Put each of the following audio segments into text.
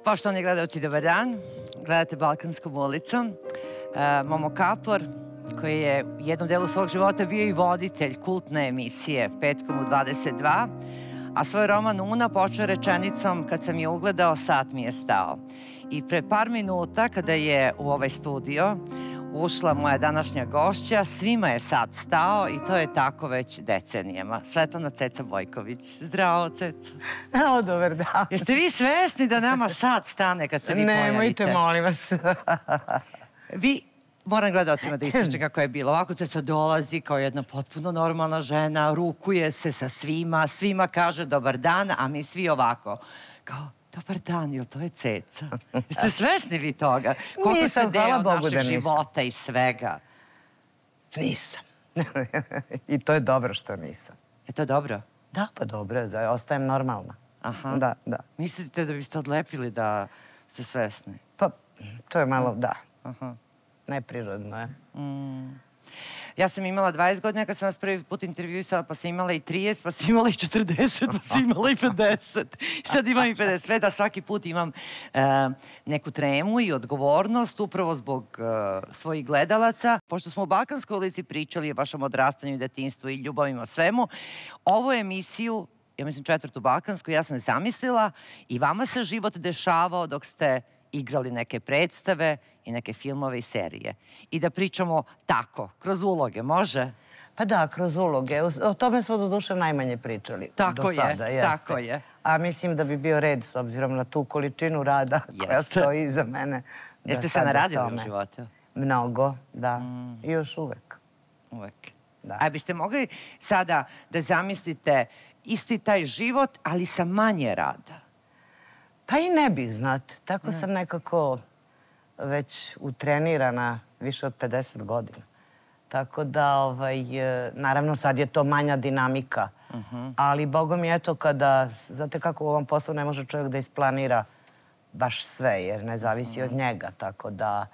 Poštovani gledalci, dobar dan. Gledate Balkanskom ulicom. Momo Kapor, koji je u jednom delu svog života bio i voditelj kultne emisije Petkom u 22, a svoj roman Una počeo rečenicom: kad sam je ugledao, sat mi je stao. I pre par minuta, kada je u ovaj studio ušla moja današnja gošća, svima je sat stao i to je tako već decenijama. Svetlana Ceca Bojković. Zdravo, Ceca. Evo, dobar dan. Jeste vi svesni da nama sat stane kad se vi pojavite? Nemojte, molim vas. Vi, moram gledalcima da ističe kako je bilo. Ovako Ceca dolazi kao jedna potpuno normalna žena, rukuje se sa svima, svima kaže dobar dan, a mi svi ovako, kao dobar dan, jel to je Ceca? Jeste svesni vi toga? Koliko ste deo našeg života i svega? Nisam. I to je dobro što nisam. Je to dobro? Da, pa dobro, da ostajem normalna. Aha. Da, da. Mislite da biste odlepili da ste svesni? Pa, to je malo, da. Aha. Neprirodno je. Ja sam imala 20 godina kad sam vas prvi put intervjuisala, pa sam imala i 30, pa sam imala i 40, pa sam imala i 50. Sad imam i 55, a svaki put imam neku tremu i odgovornost upravo zbog svojih gledalaca. Pošto smo u Balkanskoj ulici pričali o vašem odrastanju i detinjstvu i ljubavima o svemu, ovu emisiju, ja mislim četvrtu Balkansku, ja sam zamislila i vama se život dešavao dok ste igrali neke predstave i neke filmove i serije. I da pričamo tako, kroz uloge, može? Pa da, kroz uloge. O tome smo do duše najmanje pričali do sada. Tako je. A mislim da bi bio red, s obzirom na tu količinu rada koja stoji iza mene. Jeste se naradili u životu? Mnogo, da. I još uvek. Uvek. A biste mogli sada da zamislite isti taj život, ali sa manje rada? Pa i ne bih, znate. Tako sam nekako već utrenirana više od 50 godina. Tako da, naravno sad je to manja dinamika. Ali, Bogom je eto kada, znate kako u ovom poslu ne može čovjek da isplanira baš sve, jer ne zavisi od njega. Tako da,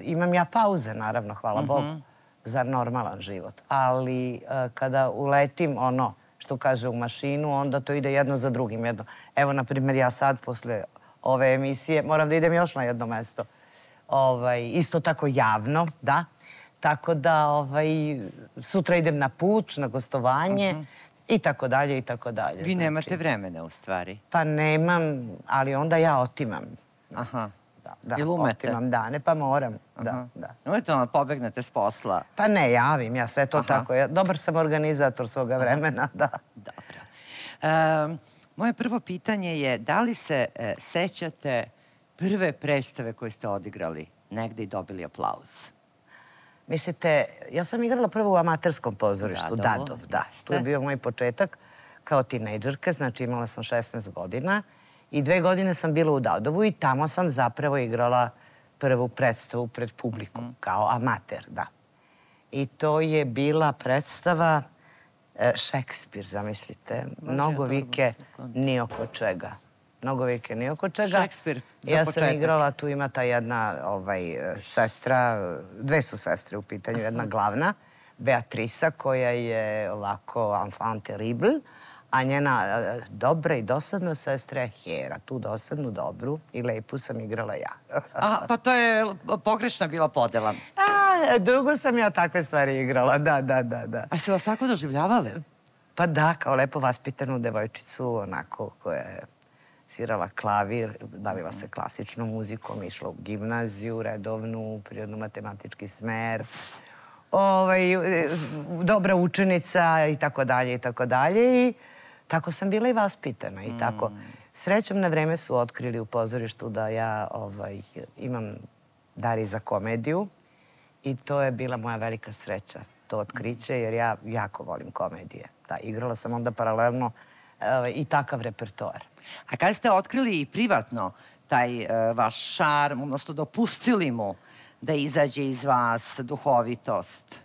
imam ja pauze, naravno, hvala Bogu, za normalan život. Ali kada uletim ono što kaže u mašinu, onda to ide jedno za drugim. Evo, na primjer, ja sad posle ove emisije moram da idem još na jedno mesto. Isto tako javno, da. Tako da sutra idem na put, na gostovanje i tako dalje i tako dalje. Vi nemate vremena u stvari? Pa nemam, ali onda ja otimam. Aha. Ili umete? Otimam dane, pa moram. Umete ono, pobegnete s posla? Pa ne, javim ja sve to tako. Dobar sam organizator svoga vremena, da. Dobro. Moje prvo pitanje je da li se sećate prve predstave koje ste odigrali negde i dobili aplauz? Mislite, ja sam igrala prvo u amaterskom pozorištu, Dadov, da. To je bio moj početak kao tinejdžerka, znači imala sam 16 godina i 2 godine sam bila u Dadovu i tamo sam zapravo igrala prvu predstavu pred publikom, kao amater, da. I to je bila predstava Šekspir, zamislite. Mnogo vike, ni oko čega. Mnogo vike, ni oko čega. Šekspir, za početak. Ja sam igrala, tu ima ta jedna sestra, 2 su sestre u pitanju, jedna glavna, Beatrisa, koja je ovako enfant terrible, a njena dobra i dosadna sestra je Hera. Tu dosadnu, dobru i lepu sam igrala ja. Pa to je pogrešna bila podela. Dugo sam ja takve stvari igrala, da. A ste vas tako doživljavali? Pa da, kao lepo vaspitanu devojčicu, onako, koja je svirala klavir, bavila se klasičnom muzikom, išla u gimnaziju, redovnu, prirodno-matematički smer, dobra učenica i tako dalje i tako dalje. I tako sam bila i vaspitana i tako. Srećom, na vreme su otkrili u pozorištu da ja imam dar i za komediju i to je bila moja velika sreća, to otkriće, jer ja jako volim komedije. Da, igrala sam onda paralelno i takav repertoar. A kada ste otkrili i privatno taj vaš šarm, odnosno dopustili mu da izađe iz vas duhovitost?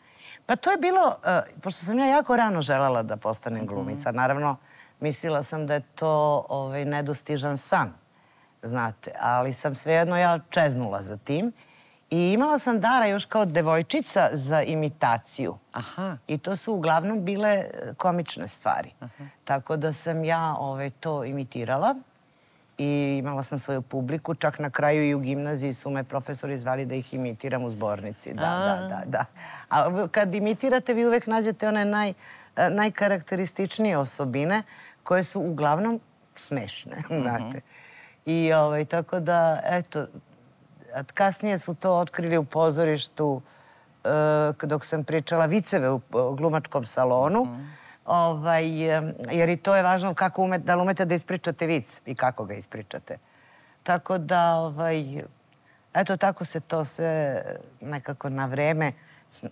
Pa to je bilo, pošto sam ja jako rano želela da postanem glumica, naravno mislila sam da je to nedostižan san, znate, ali sam svejedno ja čeznula za tim i imala sam dara još kao devojčica za imitaciju. I to su uglavnom bile komične stvari. Tako da sam ja to imitirala i imala sam svoju publiku. Čak na kraju i u gimnaziji su me profesori zvali da ih imitiram u zbornici. Da. A kad imitirate, vi uvek nađete one najkarakterističnije osobine koje su uglavnom smešne, znate. I tako da, eto, kasnije su to otkrili u pozorištu dok sam pričala viceve u glumačkom salonu, jer i to je važno da li umete da ispričate vic i kako ga ispričate. Tako da, eto, tako se to sve nekako na vreme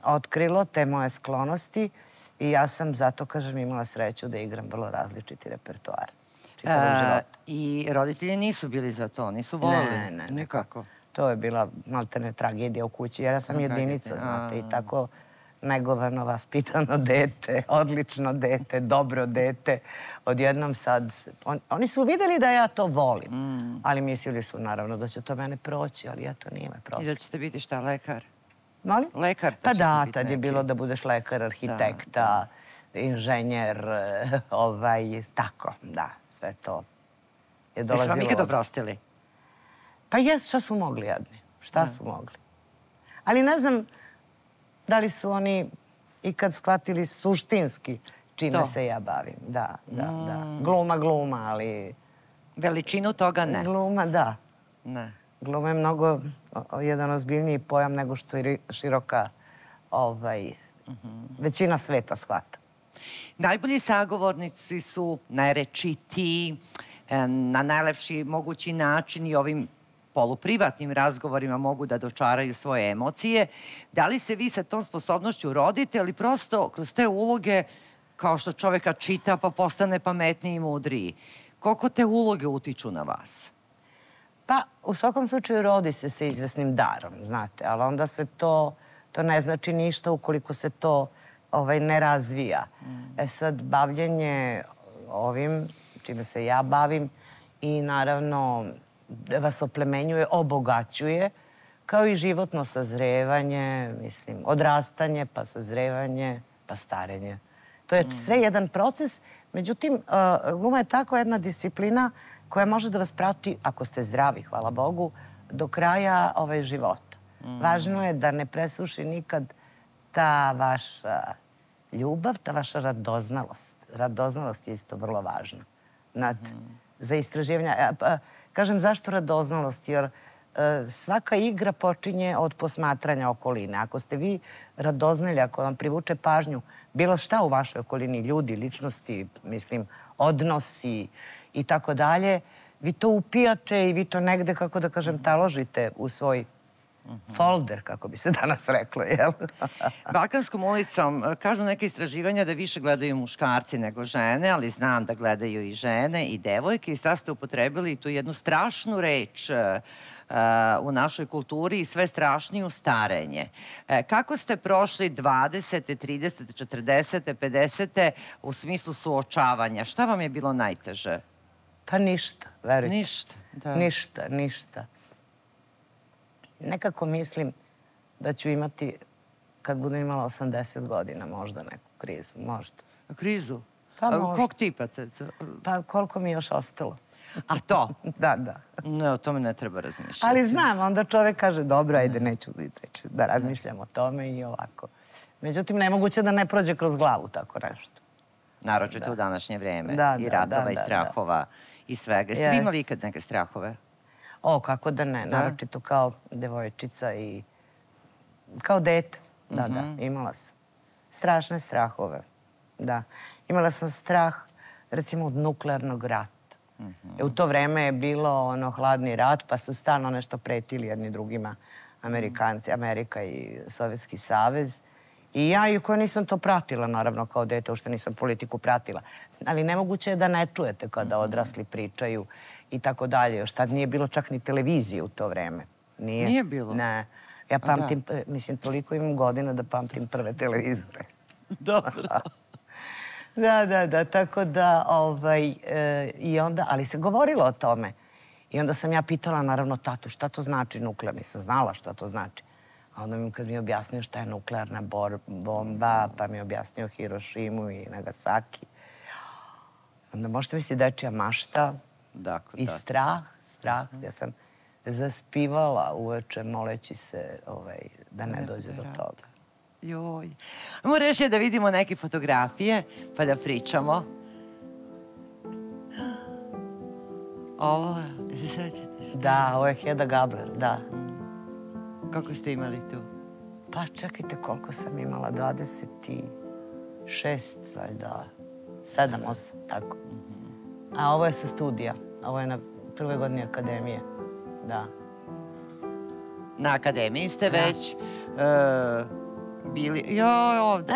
otkrilo, te moje sklonosti, i ja sam zato, kažem, imala sreću da igram vrlo različiti repertoar čitavog života. I roditelji nisu bili za to, nisu volili? Ne. Nikako. To je bila maltene tragedija u kući, jer ja sam jedinica, znate, i tako negovano, vaspitano dete, odlično dete, dobro dete. Odjednom sad, oni su vidjeli da ja to volim, ali mislili su naravno da će to mene proći, ali eto, nije me prošlo. I da ćete biti šta, lekar? Molim? Lekar? Pa da, tad je bilo da budeš lekar, arhitekta, inženjer, tako, da, sve to je dolazilo. Jesu vam ikad oprostili? Pa jes, šta su mogli jedni? Šta su mogli? Ali ne znam da li su oni ikad shvatili suštinski čime se ja bavim. Da. Gluma, ali... Veličinu toga ne? Gluma, da. Ne. Gluma je mnogo jedan ozbiljniji pojam nego što je široka većina sveta shvata. Najbolji sagovornici su najrečitiji, na najlepši mogući način i ovim poluprivatnim razgovorima mogu da dočaraju svoje emocije. Da li se vi sa tom sposobnošću rodite ili prosto kroz te uloge, kao što čoveka čita pa postane pametniji i mudriji? Koliko te uloge utiču na vas? Pa, u svakom slučaju rodi se sa izvesnim darom, znate, ali onda se to ne znači ništa ukoliko se to ne razvija. Sad, bavljenje ovim, čime se ja bavim, i naravno vas oplemenjuje, obogaćuje, kao i životno sazrevanje, mislim, odrastanje, pa sazrevanje, pa starenje. To je sve jedan proces, međutim, gluma je tako jedna disciplina koja može da vas prati, ako ste zdravi, hvala Bogu, do kraja života. Važno je da ne presuši nikad ta vaša ljubav, ta vaša radoznalost. Radoznalost je isto vrlo važna. Za istraživanja. Kažem, zašto radoznalost? Jer svaka igra počinje od posmatranja okoline. Ako ste vi radoznali, ako vam privuče pažnju bilo šta u vašoj okolini, ljudi, ličnosti, mislim, odnosi i tako dalje, vi to upijate i vi to negde, kako da kažem, taložite u svoj folder, kako bi se danas reklo, jel? Balkanskom ulicom kažu neke istraživanja da više gledaju muškarci nego žene, ali znam da gledaju i žene i devojke, i sad ste upotrebili tu jednu strašnu reč u našoj kulturi i sve strašniju starenje. Kako ste prošli 20. 30. 40. 50. u smislu suočavanja? Šta vam je bilo najteže? Pa ništa, verujte. Ništa, da. Ništa. Nekako mislim da ću imati, kad budem imala 80 godina, možda neku krizu, možda. Krizu? Pa možda. Kog tipa? Pa koliko mi je još ostalo. A to? Da. Ne, o tome ne treba razmišljati. Ali znam, onda čovek kaže, dobro, ajde, neću da razmišljam o tome i ovako. Međutim, nemoguće da ne prođe kroz glavu tako nešto. Naročito u današnje vreme. I ratova, i strahova, i svega. Jeste vi imali ikad neke strahove? O, kako da ne, naročito kao devojčica i kao dete. Da, imala sam. Strašne strahove, da. Imala sam strah, recimo, od nuklearnog rata. U to vreme je bilo hladni rat, pa su stalno nešto pretili jedni drugima, Amerikanci, Amerika i Sovjetski savez. I ja, iako nisam to pratila, naravno, kao dete, uopšte nisam politiku pratila. Ali nemoguće je da ne čujete kada odrasli pričaju i tako dalje. Još tad nije bilo čak ni televizije u to vreme. Nije bilo? Ne. Ja pamtim, mislim, toliko imam godina da pamtim prve televizore. Dobro. Da, tako da, i onda, ali se govorilo o tome. I onda sam ja pitala, naravno, tatu, šta to znači nuklearno? Nisam znala šta to znači. A onda kad mi je objasnio šta je nuklearna bomba, pa mi je objasnio Hirošimu i Nagasaki. Onda možete misliti dečija mašta, I strah. Ja sam zaspivala uveče moleći se da ne dođe do toga. Joj. Ajmo reći da vidimo neke fotografije pa da pričamo. Ovo, se sećate? Da, ovo je Hedda Gabler, da. Kako ste imali tu? Pa čekajte koliko sam imala, 26, valjda, 7, 8, tako. A ovo je sa studija, ovo je na prvoj godini akademije, da. Na akademiji ste već bili, joj, ovde.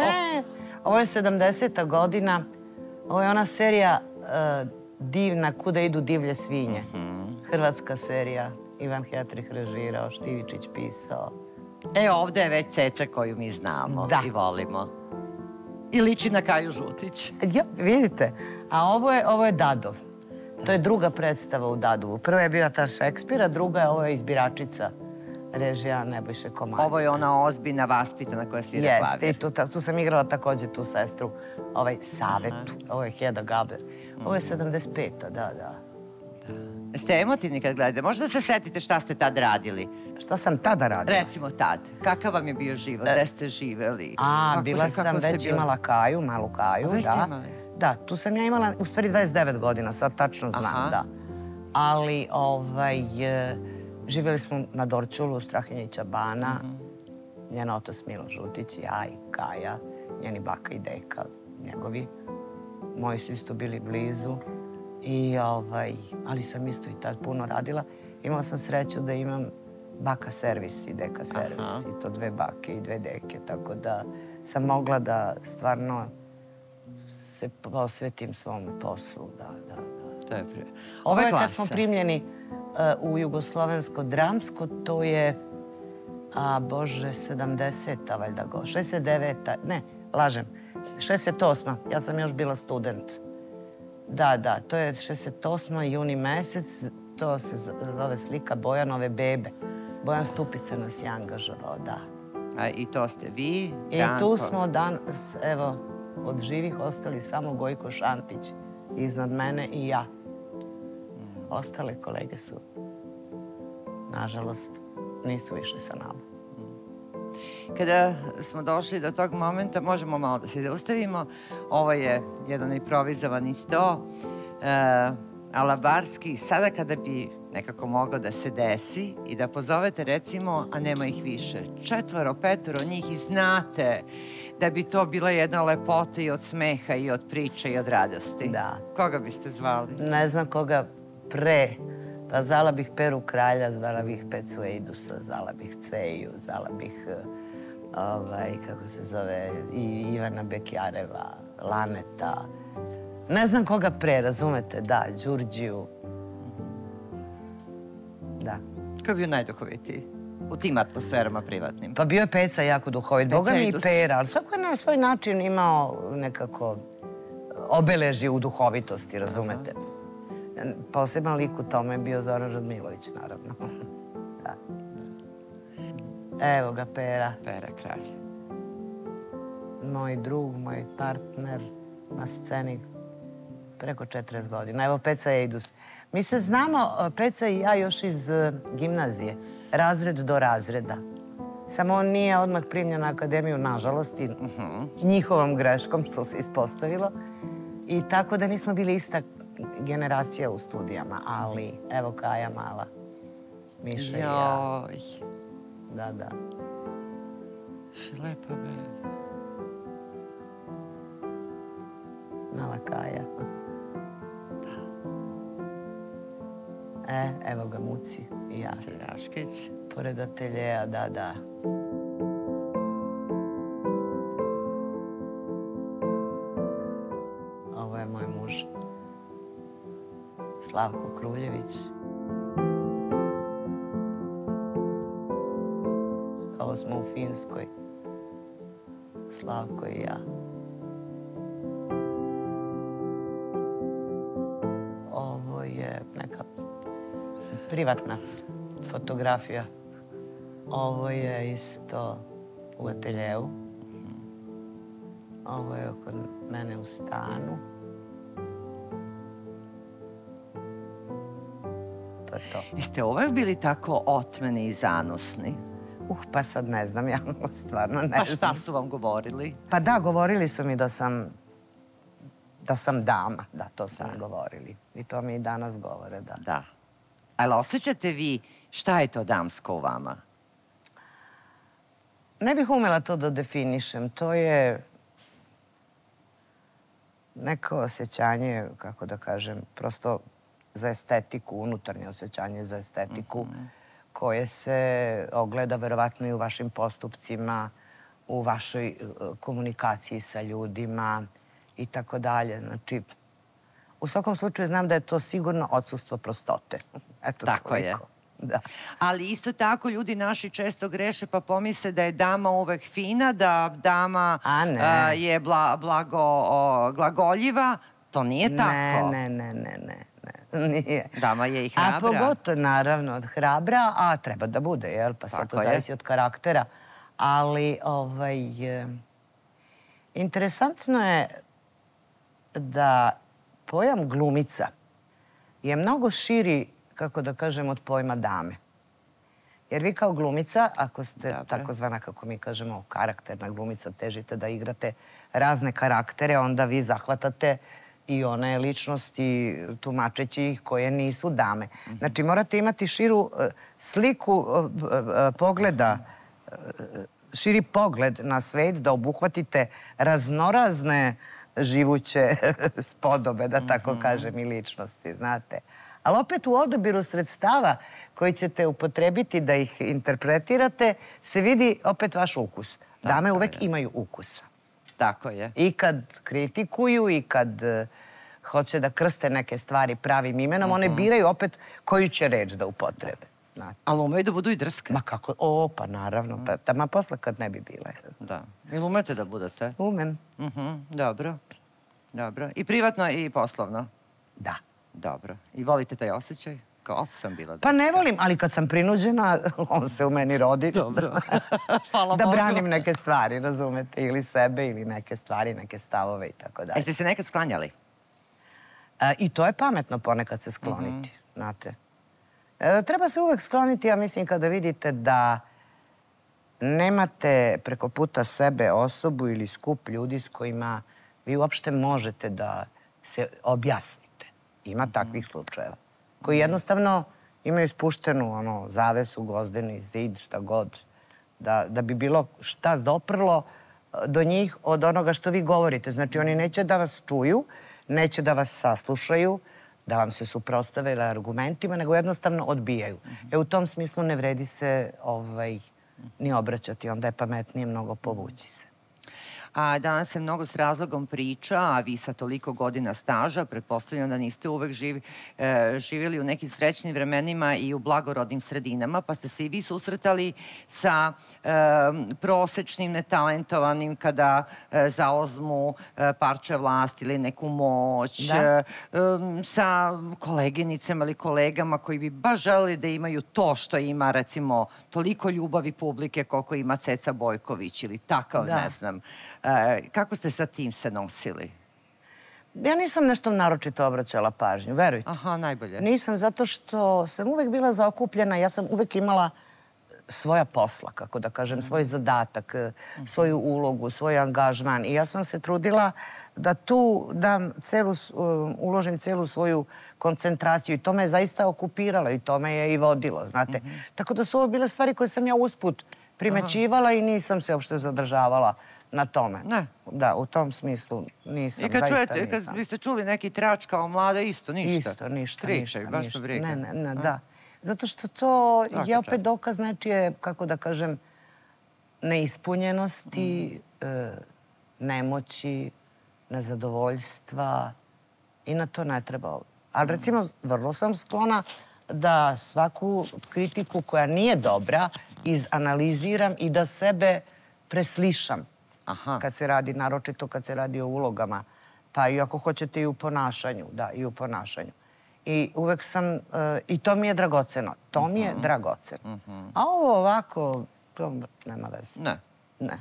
Ovo je 70. godina, ovo je ona serija divna, Kuda idu divlje svinje. Hrvatska serija, Ivan Hetrih režirao, Štivičić pisao. Ovde je već Ceca koju mi znamo i volimo. I liči na Kaju Žutić. Ja, vidite. A ovo je Dadov. To je druga predstava u Dadovu. Prva je bila ta Šekspira, druga ovo je Izbiračica, režija Nebojše Komadina. Ovo je ona ozbiljna, vaspitana koja svira klavir. Jeste, tu sam igrala takođe tu sestru, Savetu. Ovo je Hedda Gabler. Ovo je 75. Da. Ste emotivni kad gledate? Možda se setite šta ste tad radili? Šta sam tada radila? Recimo tad. Kakav vam je bio život? Gde ste živeli? Bila sam već imala Kaju, malu Kaju. Već ste imali? Da, tu sam ja imala u stvari 29 godina, sad tačno znam, da. Ali, živjeli smo na Dorćolu, Strahinjića bana, njen otac Milo Žutić, ja i Kaja, njeni baka i deka, njegovi. Moji su isto bili blizu. Ali sam isto i tad puno radila. Imala sam sreću da imam baka servis i deka servis. I to 2 bake i 2 deke. Tako da sam mogla da stvarno se posvetim svom poslu. To je Ovo je kad smo primljeni u Jugoslovensko dramsko, to je, 70. valjda go, 69. Ne, lažem, 68. Ja sam još bila student. Da, to je 68. juni mesec, to se zove slika Bojanove bebe. Bojan Stupica nas je angažovao, da. I to ste vi, I tu smo danas, evo, od živih ostali samo Gojko Šantić iznad mene i ja. Ostale kolege su, nažalost, nisu više sa nama. Kada smo došli do tog momenta, možemo malo da se zaustavimo. Ovo je jedan improvizovani sto, alabarski. Sada kada bi nekako mogao da se desi i da pozovete, recimo, a nema ih više, 4, 5 njih i znate da bi to bila jedna lepota i od smeha i od priče i od radosti. Da. Koga biste zvali? Ne znam koga pre. Pa zvala bih Peru Kralja, zvala bih Pecu Eidusa, zvala bih Cveju, zvala bih, kako se zove, Ivana Bekjareva, Laneta. Ne znam koga pre, razumete, da, Đurđiju. Da. Ko je bio najduhovitiji u tim atmosferama privatnim? Pa bio je Peca jako duhovit, Boga mi i Pera, ali svako je na svoj način imao nekako obeležje u duhovitosti, razumete. Poseban lik u tome je bio Zoran Radmilović, naravno. Evo ga, Pera. Pera Kralj. Moj drug, moj partner na sceni preko 40 godina. Evo Peca Eidus. Mi se znamo, Peca i ja, još iz gimnazije. Razred do razreda. Samo on nije odmah primljen na akademiju, nažalost, i njihovom greškom, što se ispostavilo. I tako da nismo bili ista generacija u studijama, ali evo Kaja mala, Miša i ja. Joj. Da. Lepa beba. Mala Kaja. Evo ga Muci i ja. Celjaškić. Pored ateljeja, da. Ovo je moj muž. Slavko Kruljević. Ovo smo u Finskoj. Slavko i ja. Ovo je neka privatna fotografija. Ovo je isto u ateljeu. Ovo je kod mene u stanu. je to. Jeste uvek bili tako otmeni i zanosni? Pa sad ne znam, ja stvarno ne znam. Pa šta su vam govorili? Pa da, govorili su mi da sam dama, da, to su mi govorili. I to mi i danas govore, da. Da. Ali osjećate vi šta je to damsko u vama? Ne bih umela to da definišem. To je neko osjećanje, kako da kažem, prosto za estetiku, unutarnje osjećanje za estetiku, koje se ogleda verovatno i u vašim postupcima, u vašoj komunikaciji sa ljudima i tako dalje. Znači, u svakom slučaju znam da je to sigurno odsustvo prostote. Eto, tako je. Da. Ali isto tako ljudi naši često greše pa pomisle da je dama uvek fina, da dama je glagoljiva. To nije tako. Ne. Nije. Dama je i hrabra. A pogotovo, naravno, hrabra, a treba da bude, jel? Pa sad to zavisi od karaktera. Ali, interesantno je da pojam glumica je mnogo širi, kako da kažem, od pojma dame. Jer vi kao glumica, ako ste takozvana, kako mi kažemo, karakterna glumica, težite da igrate razne karaktere, onda vi zahvatate i one ličnosti, tumačeći ih, koje nisu dame. Znači, morate imati širu sliku pogleda, širi pogled na svet, da obuhvatite raznorazne živuće spodobe, da tako kažem, i ličnosti, znate. Ali opet u odabiru sredstava koji ćete upotrebiti da ih interpretirate, se vidi opet vaš ukus. Dame uvek imaju ukusa. Tako je. I kad kritikuju i kad hoće da krste neke stvari pravim imenom, one biraju opet koju će reč da upotrebe. Ali umeju da budu i drske. Ma kako? Pa naravno. Ma posle kad ne bi bile. Da. Ili umete da budete? Umem. Dobro. Dobro. I privatno i poslovno? Da. Dobro. I volite taj osjećaj? Kao sam bila drska. Pa ne volim, ali kad sam prinuđena, on se u meni rodi. Dobro. Hvala Bogu. Da branim neke stvari, razumete? Ili sebe, ili neke stvari, neke stavove i tako dalje. Jeste se nekad sklanjali? I to je pametno ponekad se skloniti, znate. Treba se uvek skloniti, ja mislim, kada vidite da nemate preko puta sebe osobu ili skup ljudi s kojima vi uopšte možete da se objasnite. Ima takvih slučajeva. Koji jednostavno imaju spuštenu zavesu, gvozdeni zid, šta god. Da bi bilo šta doprlo do njih od onoga što vi govorite. Znači, oni neće da vas čuju, neće da vas saslušaju, da vam se suprotstave argumentima, nego jednostavno odbijaju. U tom smislu ne vredi se ni obraćati, onda je pametnije mnogo povući se. A danas se mnogo s razlogom priča, a vi sa toliko godina staža, pretpostavljam da niste uvek živjeli u nekim srećnim vremenima i u blagorodnim sredinama, pa ste se i vi susretali sa prosečnim, netalentovanim kada zaozmu parče vlasti ili neku moć, sa koleginicama ili kolegama koji bi baš želeli da imaju to što ima, recimo, toliko ljubavi publike koliko ima Ceca Bojković ili takav, ne znam. Kako ste sa tim se nosili? Ja nisam nešto naročito obraćala pažnju, verujte. Aha, najbolje. Nisam, zato što sam uvek bila zaokupljena, ja sam uvek imala svoja posla, kako da kažem, svoj zadatak, svoju ulogu, svoj angažman. I ja sam se trudila da tu uložim celu svoju koncentraciju i to me je zaista okupiralo i to me je i vodilo, znate. Tako da su ovo bile stvari koje sam ja usput primećivala i nisam se uopšte zadržavala na tome. Ne. Da, u tom smislu nisam, zaista nisam. I kad biste čuli neki trač kao mlada, isto, ništa? Isto, ništa. Pričaj, baš to briga. Ne, da. Zato što to je opet dokaz nečije, kako da kažem, neispunjenosti, nemoći, nezadovoljstva i na to ne treba. Ali recimo, vrlo sam sklona da svaku kritiku koja nije dobra izanaliziram i da sebe preslišam. Kad se radi, naročito kad se radi o ulogama. Pa i ako hoćete i u ponašanju, da, i u ponašanju. I uvek sam, i to mi je dragoceno. To mi je dragoceno. A ovo ovako, to nema veze. Ne. Ne.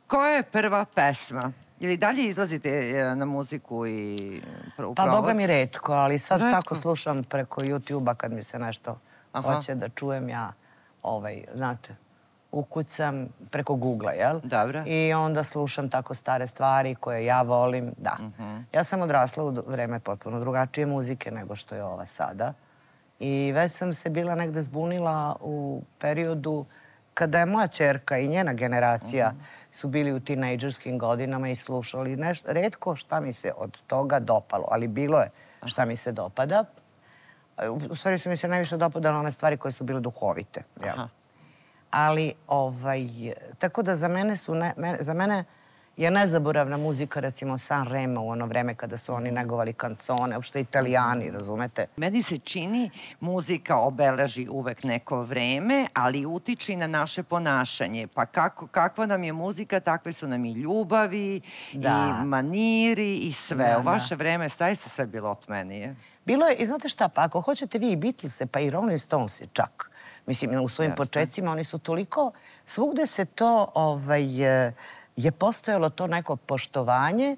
Koja je prva pesma Ili dalje izlazite na muziku i u provod? Pa, boga mi retko, ali sad tako slušam preko YouTube-a kad mi se nešto hoće da čujem ja, znate, ukucam preko Google-a, jel? Dobro. I onda slušam tako stare stvari koje ja volim, da. Ja sam odrasla u vreme potpuno drugačije muzike nego što je ova sada. I već sam se bila negde zbunila u periodu kada je moja ćerka i njena generacija su bili u tinejdžerskim godinama i slušali nešto. Retko šta mi se od toga dopalo, ali bilo je šta mi se dopada. U stvari su mi se najviše dopadale one stvari koje su bile duhovite. Ali, tako da za mene je nezaboravna muzika, recimo San Remo u ono vreme kada su oni negovali kancone, uopšte Italijani, razumete? Meni se čini muzika obeleži uvek neko vreme, ali utiče i na naše ponašanje. Pa kakva nam je muzika, takve su nam i ljubavi, i maniri, i sve. U vaše vreme zaista sve bilo otmenije. Bilo je, i znate šta, pa ako hoćete vi i Beatlese, pa i Rolling Stonesi čak, mislim, u svojim početcima oni su toliko, svugde se to, je postojalo to neko poštovanje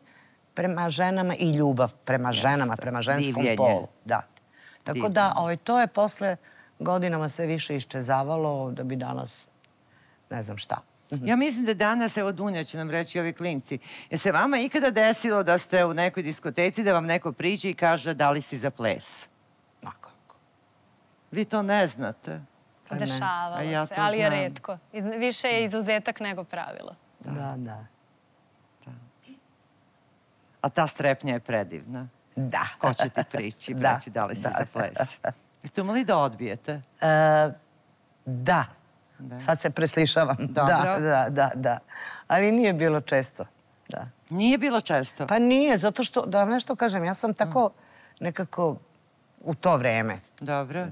prema ženama i ljubav prema ženama, prema ženskom polu. Da. Tako da, to je posle godinama sve više iščezavalo da bi danas, ne znam šta. Ja mislim da danas, evo Dunja će nam reći ovi klinci, je se vama ikada desilo da ste u nekoj diskoteci, da vam neko priđe i kaže da li si za ples? Ma kako? Vi to ne znate. Dešavalo se, ali je retko. Više je izuzetak nego pravilo. Da. A ta strepnja je predivna. Da. Ko će ti prići, reći da li si za ples? Jeste umeli da odbijete? Da. Sad se preslišavam. Da. Ali nije bilo često. Nije bilo često? Pa nije, zato što, da vam nešto kažem, ja sam tako nekako u to vreme,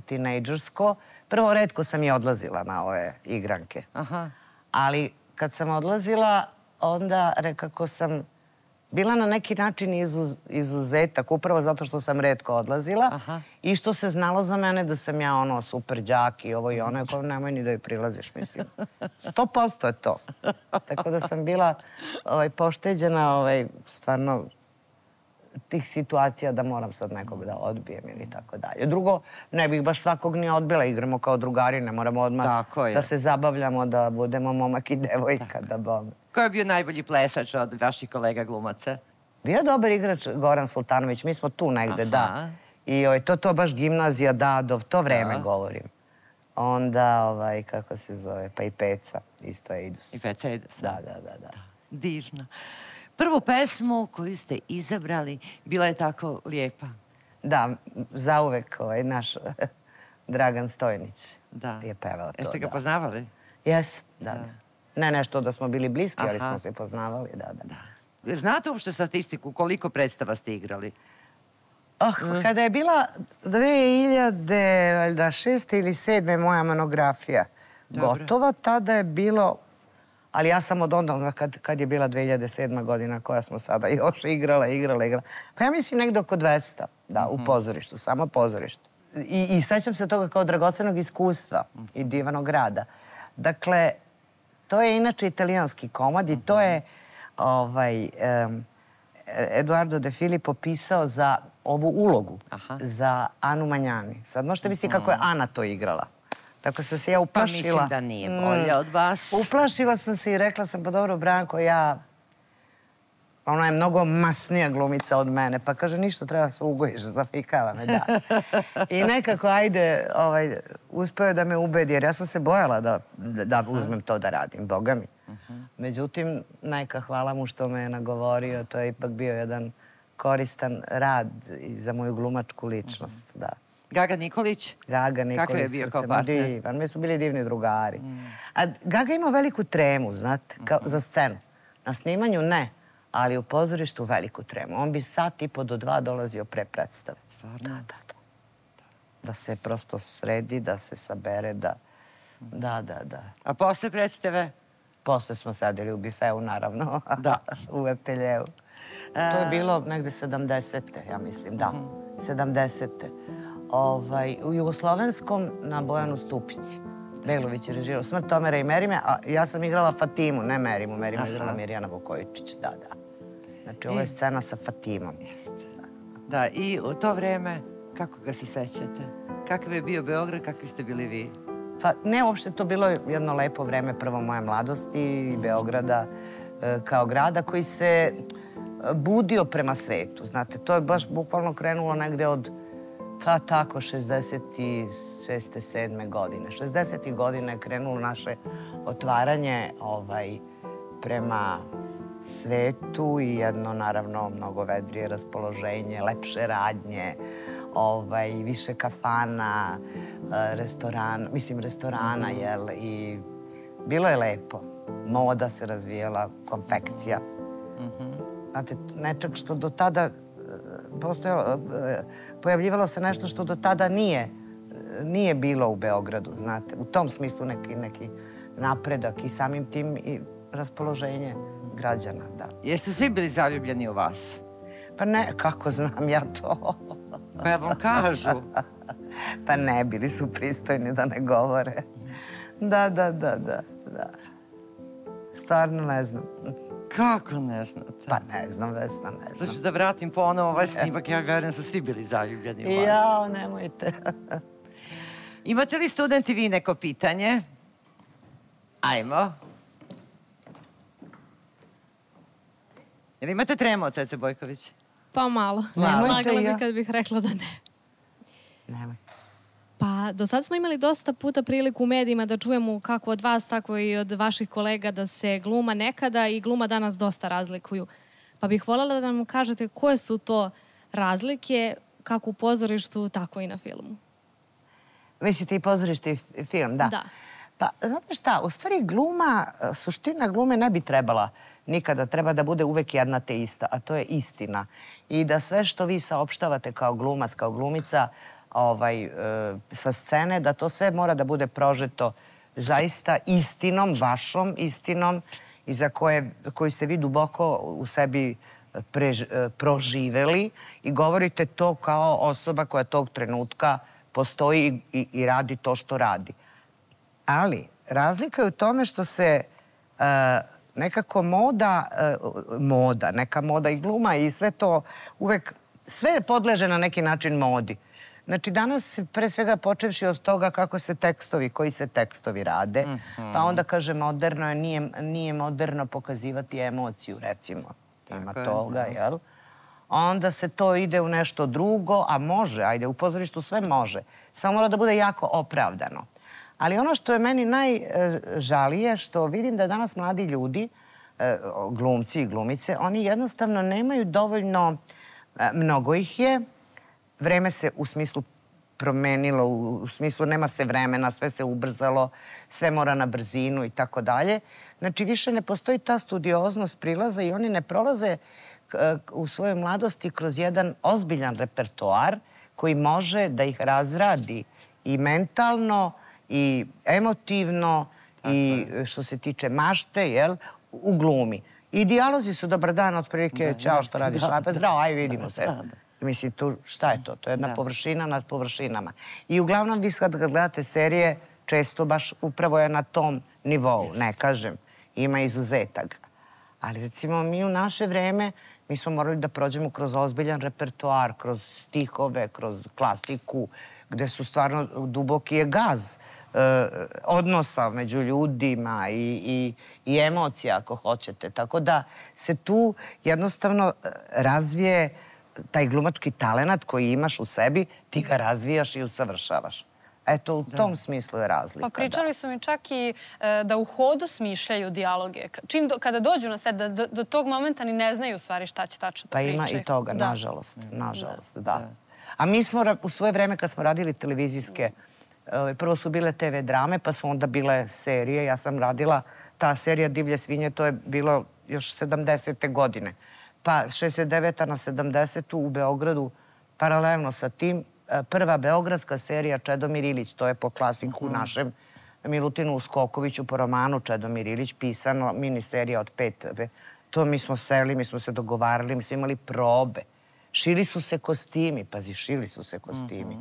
tinejdžersko, prvo retko sam i odlazila na ove igranke. Ali kad sam odlazila, onda rekako sam bila na neki način izuzetak, upravo zato što sam retko odlazila i što se znalo za mene da sam ja ono super đak i ovo i ono, kao nemoj ni da joj prilaziš, mislim. 100% je to. Tako da sam bila pošteđena stvarno tih situacija da moram sad nekog da odbijem ili tako dalje. Drugo, ne bih baš svakog ni odbila, igramo kao drugari, ne moramo odmah da se zabavljamo, da budemo momak i devojka, da bome. Ko je bio najbolji plesač od vaših kolega glumaca? Bio je dobar igrač Goran Sultanović, mi smo tu negde, da. I to baš gimnazija Dadov, to vreme govorim. Onda, kako se zove, pa i Peca, isto je Idus. I Peca Idus. Da. Divno. Prvu pesmu koju ste izabrali bila je tako lijepa. Da, zauvek naš Dragan Stojnić je pevao to. Jeste ga poznavali? Jes, da. Ne nešto da smo bili bliski, ali smo se poznavali, da. Znate uopšte statistiku koliko predstava ste igrali? Kada je bila 2006. ili 2007. moja monografija gotova, tada je bilo, ali ja sam od onda kad je bila 2007. godina koja smo sada još igrala. Pa ja mislim negdje oko 200, da, u pozorištu, samo pozorištu. I sećam se toga kao dragocenog iskustva i divanog rada. Dakle, to je inače italijanski komad i to je Eduardo De Filippo pisao za ovu ulogu, za Anu Manjani. Sad možete misliti kako je Ana to igrala. Tako sam se ja uplašila. Pa mislim da nije bolja od vas. Uplašila sam se i rekla sam, pa dobro, Branko, ona je mnogo masnija glumica od mene. Pa kaže, ništa, treba se ugojiš, zafikava me, da. I nekako, ajde, uspeo je da me ubedi, jer ja sam se bojala da uzmem to da radim, boga mi. Međutim, neka, hvala mu što me je nagovorio, to je ipak bio jedan koristan rad za moju glumačku ličnost, da. Gaga Nikolić? Gaga Nikolić. Kako je bio kao partner? Divan, mi smo bili divni drugari. A Gaga imao veliku tremu, znate, za scenu. Na snimanju ne, ali u pozorištu veliku tremu. On bi 1,5 do 2 dolazio pre predstave. Stvarno? Da. Da se prosto sredi, da se sabere, da. A posle predstave? Posle smo sedeli u bifeu, naravno. Da. U ateljevu. To je bilo negde 70. ja mislim, da. 70. U Jugoslovenskom na Bojanu Stupici. Belović je režirao Smrt Tomera i Merime, a ja sam igrala Fatimu, ne Merimu. Merimu je igrala Mirjana Vukojičić, da. Znači, ovo je scena sa Fatimom. Da, i u to vreme, kako ga se sećate? Kakav je bio Beograd, kakvi ste bili vi? Pa ne, uopšte to bilo jedno lepo vreme, prvo moje mladosti i Beograda kao grada koji se budio prema svetu. Znate, to je baš bukvalno krenulo negde od, pa tako, 66. 7. godine. 60. godine je krenulo naše otvaranje prema svetu i jedno, naravno, mnogo vedrije raspoloženje, lepše radnje, više kafana, restorana, jel, i bilo je lepo. Moda se razvijela, konfekcija. Znate, nečak što do tada pojavljivalo se nešto što do tada nije bilo u Beogradu, znate. U tom smislu neki napredak i samim tim i raspoloženje građana, da. Jeste svi bili zaljubljeni u vas? Pa ne, kako znam ja to? Pa ja vam kažu. Pa ne, bili su pristojni da ne govore. Da. Stvarno ne znam. Kako ne znate? Pa ne znam, Vesna, ne znam. Znači da vratim ponovo ovaj snimak, ja verujem da su svi bili zaljubljeni u vas. Jao, nemojte. Imate li studenti vi neko pitanje? Ajmo. Jel imate tremu od Cece Bojković? Pa malo. Slagala bi kad bih rekla da ne. Nemoj. Pa do sad smo imali dosta puta priliku u medijima da čujemo kako od vas, tako i od vaših kolega da se gluma nekada i gluma danas dosta razlikuju. Pa bih voljela da nam kažete koje su to razlike kako u pozorištu, tako i na filmu. Mislite i pozorište i film, da? Da. Pa, znate šta, u stvari gluma, suština glume ne bi trebala nikada, treba da bude uvek jedna te ista, a to je istina. I da sve što vi saopštavate kao glumac, kao glumica, sa scene, da to sve mora da bude prožeto zaista istinom, vašom istinom i za koju ste vi duboko u sebi proživeli i govorite to kao osoba koja tog trenutka postoji i radi to što radi. Ali razlika je u tome što se nekako neka moda i gluma i sve to uvek, sve podleže na neki način modi. Znači, danas, pre svega, počevši od toga koji se tekstovi rade, pa onda kaže moderno je, nije moderno pokazivati emociju, recimo. Ima toga, jel? Onda se to ide u nešto drugo, a može, ajde, u pozorištu sve može. Samo mora da bude jako opravdano. Ali ono što je meni najžalije, što vidim da danas mladi ljudi, glumci i glumice, oni jednostavno nemaju dovoljno, mnogo ih je, vreme se u smislu promenilo, u smislu nema se vremena, sve se ubrzalo, sve mora na brzinu i tako dalje. Znači, više ne postoji ta studioznost prilaza i oni ne prolaze u svojoj mladosti kroz jedan ozbiljan repertoar koji može da ih razradi i mentalno i emotivno i što se tiče mašte, jel, u glumi. I dijalozi su dobar dan, otprilike, čao, što radiš, lepe, zdravo, aj, vidimo se. Mislim, šta je to? To je jedna površina nad površinama. I uglavnom, vi kad gledate serije, često baš upravo je na tom nivou, ne kažem, ima izuzetak. Ali recimo mi u naše vreme, mi smo morali da prođemo kroz ozbiljan repertoar, kroz stihove, kroz klasiku, gde su stvarno duboki je gaz odnosa među ljudima i emocija, ako hoćete. Tako da se tu jednostavno razvije taj glumački talenat koji imaš u sebi, ti ga razvijaš i usavršavaš. Eto, u tom smislu je razlika. Pa pričali su mi čak i da u hodu smišljaju dijaloge. Kada dođu na set, do tog momenta ni ne znaju u stvari šta će tačno da pričaju. Pa ima i toga, nažalost. Nažalost, da. A mi smo u svoje vreme kad smo radili televizijske, prvo su bile TV drame, pa su onda bile serije. Ja sam radila ta serija Divlje svinje, to je bilo još 70. godine. Pa 69. na 70. u Beogradu, paralelno sa tim, prva beogradska serija Čedomir Ilić, to je po klasiku našem Milutinu Uskokoviću, po romanu Čedomir Ilić, pisano, miniserija od 5. To mi smo seli, mi smo se dogovarali, mi smo imali probe. Šili su se kostimi, pazi, šili su se kostimi.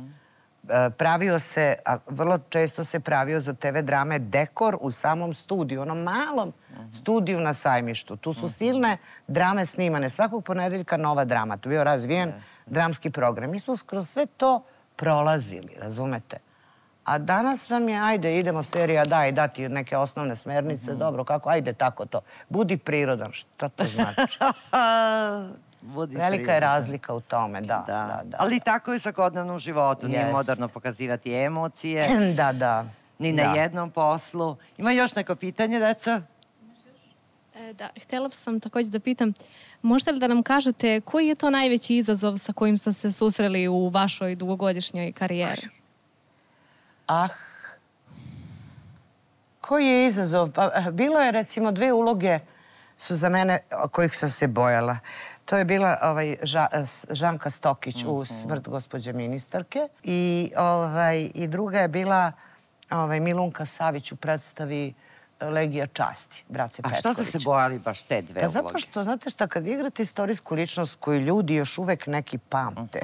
pravio se, a vrlo često se pravio za TV drame dekor u samom studiju, onom malom studiju na Sajmištu. Tu su silne drame snimane. Svakog ponedeljka nova drama. Tu je bio razvijen dramski program. Mi smo kroz sve to prolazili, razumete? A danas nam je, ajde, idemo serija, daj, dati neke osnovne smernice, dobro, kako, ajde, tako to. Budi prirodan, šta to znači? Velika je razlika u tome, da. Ali tako je u svakodnevnom životu, nije moderno pokazivati emocije. Da. Ni na jednom poslu. Ima još neko pitanje, deca? Da, htjela sam također da pitam, možete li da nam kažete koji je to najveći izazov sa kojim ste se susreli u vašoj dugogodišnjoj karijeri? Koji je izazov? Bilo je, recimo, 2 uloge su za mene kojih sam se bojala. To je bila Žanka Stokić u Smrt gospođe ministarke i druga je bila Milunka Savić u predstavi Legija časti, Brace Petković. A što ste se bojali baš te 2 uloge? Zato što, znate šta, kad vi igrate istorijsku ličnost koju ljudi još uvek neki pamte,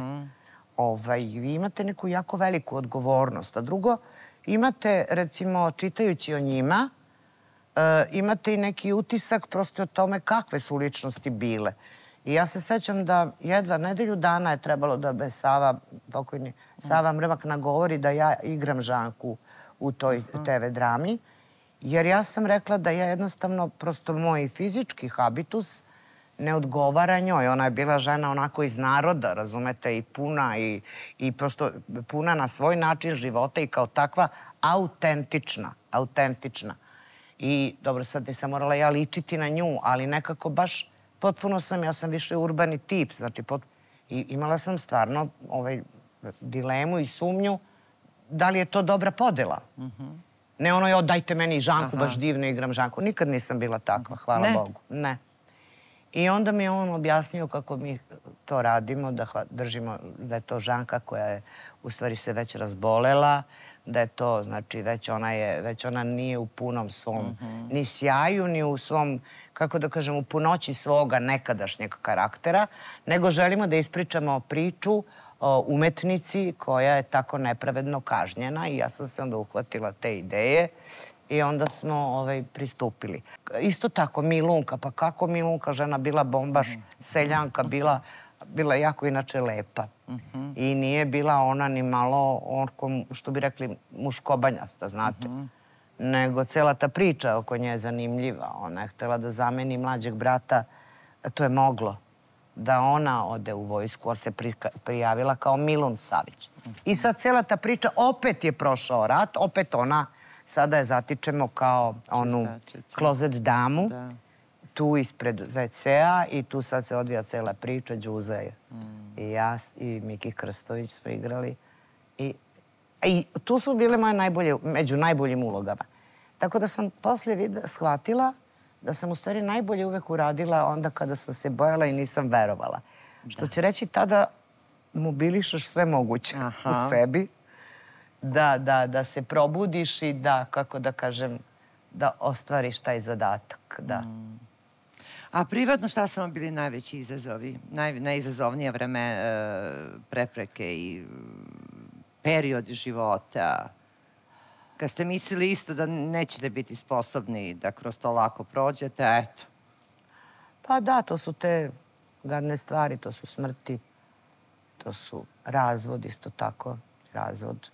vi imate neku jako veliku odgovornost. A drugo, imate, recimo, čitajući o njima, imate i neki utisak prosto o tome kakve su ličnosti bile. I ja se sećam da jedva nedelju dana je trebalo da me pokojni Sava Mrmak nagovori da ja igram Žanku u toj TV drami, jer ja sam rekla da ja jednostavno, prosto moj fizički habitus ne odgovara njoj. Ona je bila žena onako iz naroda, razumete, i puna i prosto puna na svoj način života i kao takva autentična. I dobro, sad nisam morala ja ličiti na nju, ali nekako baš potpuno ja sam više urbani tip, znači i imala sam stvarno dilemu i sumnju da li je to dobra podela. Ne ono, dajte meni Žanku, baš divno igram Žanku. Nikad nisam bila takva, hvala Bogu. Ne. I onda mi je on objasnio kako mi to radimo, da držimo, da je to Žanka koja je u stvari se već razbolela, da je to, znači, već ona nije u punom svom ni sjaju, ni u svom, kako da kažem, u punoći svoga nekadašnjeg karaktera, nego želimo da ispričamo priču o umetnici koja je tako nepravedno kažnjena i ja sam se onda uhvatila te ideje i onda smo pristupili. Isto tako, Milunka, pa kako Milunka, žena bila bombaš, seljanka, bila jako inače lepa. I nije bila ona ni malo, što bi rekli, muškobanjasta, znate. Nego cela ta priča oko nje je zanimljiva. Ona je htjela da zameni mlađeg brata, to je moglo, da ona ode u vojsku, ali se prijavila kao Milun Savić. I sad cela ta priča, opet je prošao rat, opet ona, sada je zatičemo kao onu klozet damu, tu ispred WC-a i tu sad se odvija cela priča, Đuza je. I ja i Miki Krstović smo igrali. I tu su bile moje među najboljim ulogama. Tako da sam poslije shvatila da sam u stvari najbolje uvek uradila onda kada sam se bojala i nisam verovala. Što će reći, tada mobilišaš sve moguće u sebi, da se probudiš i da, kako da kažem, da ostvariš taj zadatak, da. A privatno šta su vam bili najveći izazovi? Najizazovnije vreme, prepreke i periodi života? Kad ste mislili isto da nećete biti sposobni da kroz to lako prođete, eto. Pa da, to su te gadne stvari, to su smrti, to su razvod, isto tako, razvod.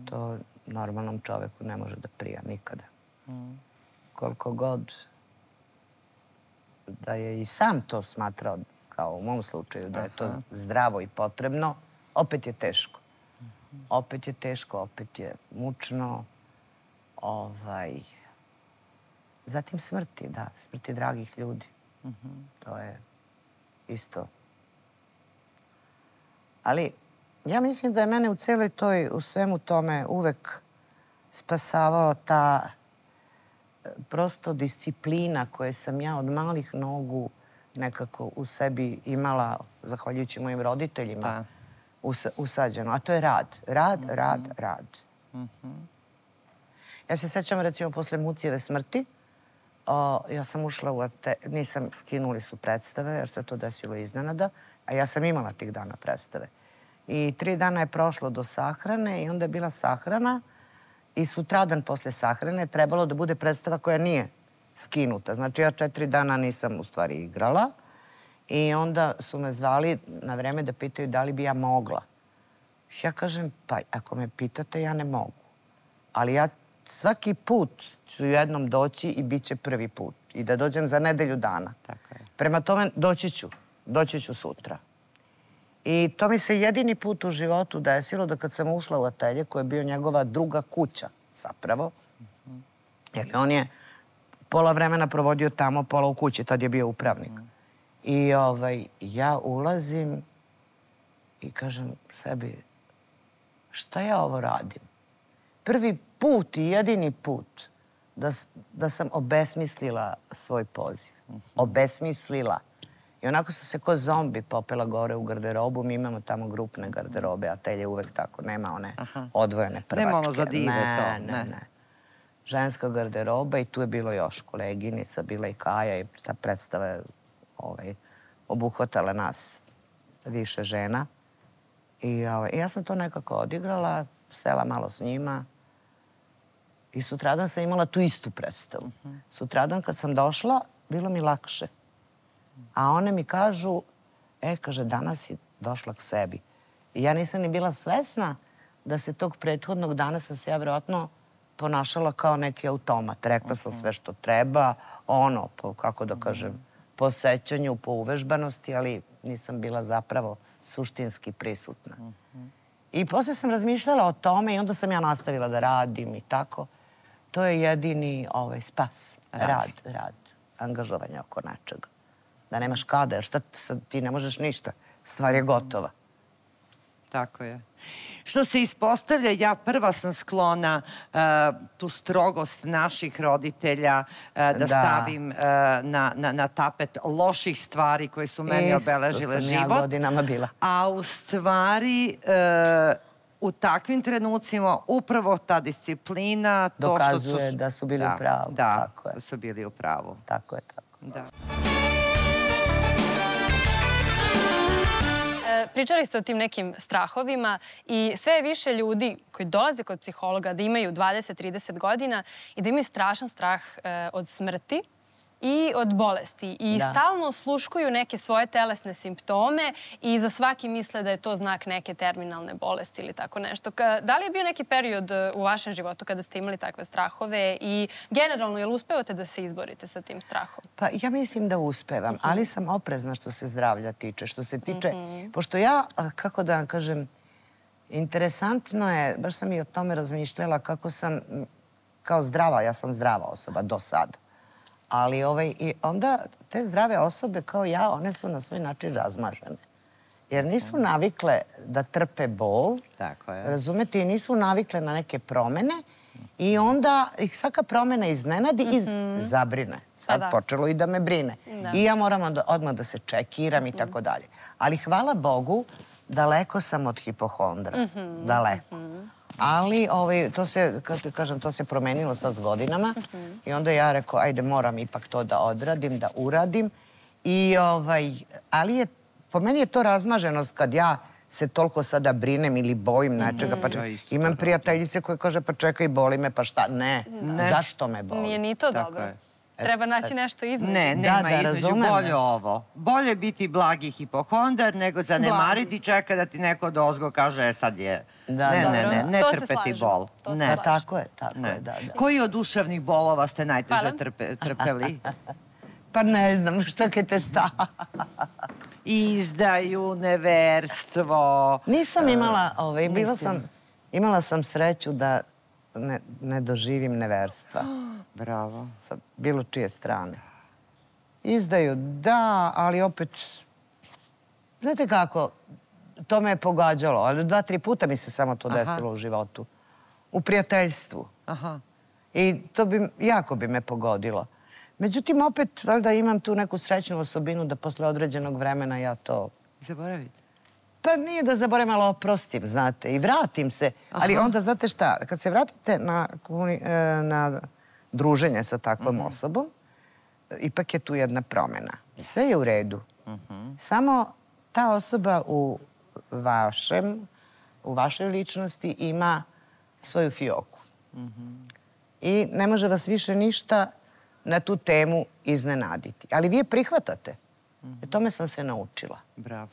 To normalnom čoveku ne može da prija nikada. Koliko god da je i sam to smatrao, kao u mom slučaju, da je to zdravo i potrebno, opet je teško. Opet je teško, opet je mučno. Zatim smrti, da, smrti dragih ljudi. To je isto. Ali ja mislim da je mene u celoj toj, u svemu tome uvek spasavalo ta prosto disciplina koje sam ja od malih nogu nekako u sebi imala, zahvaljujući mojim roditeljima, usađeno. A to je rad. Rad. Ja se sećam, recimo, posle Mucijeve smrti, ja sam ušla skinuli su predstave, jer se to desilo iznenada, a ja sam imala tih dana predstave. I 3 dana je prošlo do sahrane i onda je bila sahrana i sutradan posle sahrane trebalo da bude predstava koja nije skinuta. Znači ja 4 dana nisam u stvari igrala i onda su me zvali na vreme da pitaju da li bi ja mogla. Ja kažem, pa ako me pitate, ja ne mogu. Ali ja svaki put ću jednom doći i bit će prvi put. I da dođem za nedelju dana. Prema tome, doći ću sutra. I to mi se jedini put u životu desilo da kad sam ušla u atelje, koja je bio njegova druga kuća, zapravo, jer on je pola vremena provodio tamo, pola u kući, tad je bio upravnik. I ja ulazim i kažem sebi, šta ja ovo radim? Prvi put i jedini put da sam obesmislila svoj poziv. Obesmislila. I onako sam se ko zombi popela gore u garderobu. Mi imamo tamo grupne garderobe, atelje uvek tako. Nema one odvojene prvačke. Nema ono za dive to. Ne. Ženska garderoba i tu je bilo još koleginica, bila i Kaja i ta predstava je obuhvatala nas više žena. I ja sam to nekako odigrala, sela malo s njima i sutradan sam imala tu istu predstavu. Sutradan kad sam došla, bilo mi lakše. A one mi kažu, kaže, danas si došla k sebi. I ja nisam ni bila svesna da se tog prethodnog dana sam se ja vjerojatno ponašala kao neki automat. Rekla sam sve što treba, kako da kažem, po sećanju, po uvežbanosti, ali nisam bila zapravo suštinski prisutna. I posle sam razmišljala o tome i onda sam ja nastavila da radim i tako. To je jedini spas. Rad. Angažovanje oko nečega. Da nemaš kada, jer šta ti ne možeš ništa. Stvar je gotova. Tako je. Što se ispostavlja, ja prva sam sklona tu strogost naših roditelja da stavim na tapet loših stvari koje su meni obeležile život. Isto sam ja godinama bila. A u stvari, u takvim trenucima upravo ta disciplina... Dokazuje da su bili u pravu. Da, da su bili u pravu. Tako je, tako. Da. Pričali ste o tim nekim strahovima i sve je više ljudi koji dolaze kod psihologa da imaju 20-30 godina i da imaju strašan strah od smrti i od bolesti. I stalno osluškuju neke svoje telesne simptome i za svaki misle da je to znak neke terminalne bolesti ili tako nešto. Da li je bio neki period u vašem životu kada ste imali takve strahove i generalno, jel uspevate da se izborite sa tim strahom? Pa ja mislim da uspevam, ali sam oprezna što se zdravlja tiče. Što se tiče, pošto ja, kako da vam kažem, interesantno je, baš sam i o tome razmišljala, kako sam, kao zdrava, ja sam zdrava osoba do sada. Ali i onda te zdrave osobe kao ja, one su na svoj način razmažene. Jer nisu navikle da trpe bol, razumete, i nisu navikle na neke promene i onda ih svaka promena iznenadi i zabrine. Sad počelo i da me brine. I ja moram odmah da se čekiram i tako dalje. Ali hvala Bogu, daleko sam od hipohondra. Daleko. Ali to se promenilo sad s godinama i onda ja rekao, ajde, moram ipak to da odradim, da uradim. Ali po meni je to razmaženost kad ja se toliko sada brinem ili bojim nečega. Imam prijateljice koje kaže, pa čekaj, boli me, pa šta? Ne. Zašto me boli? Nije ni to dobro. Treba naći nešto između. Ne, nema između, bolje ovo. Bolje biti blagi hipohondar nego zanemariti, čeka da ti neko odozgo kaže, sad je... Ne trpeti bol. Tako je, da. Koji od duševnih bolova ste najteže trpeli? Pa ne znam, što kete šta. Izdaju, neverstvo. Nisam imala sam sreću da ne doživim neverstva. Bravo. Sa bilo čije strane. Izdaju, da, ali opet... Znate kako, to me je pogađalo, ali 2-3 puta mi se samo to desilo u životu. U prijateljstvu. I to jako bi me pogodilo. Međutim, opet, valjda imam tu neku srećnu osobinu da posle određenog vremena ja to... Zaboravite? Pa nije da zaboravim, ali oprostim, znate, i vratim se. Ali onda, znate šta, kad se vratite na druženje sa takvom osobom, ipak je tu jedna promjena. Sve je u redu. Samo ta osoba u u vašoj ličnosti ima svoju fioku. I ne može vas više ništa na tu temu iznenaditi. Ali vi je prihvatate. Tome sam se naučila. Bravo.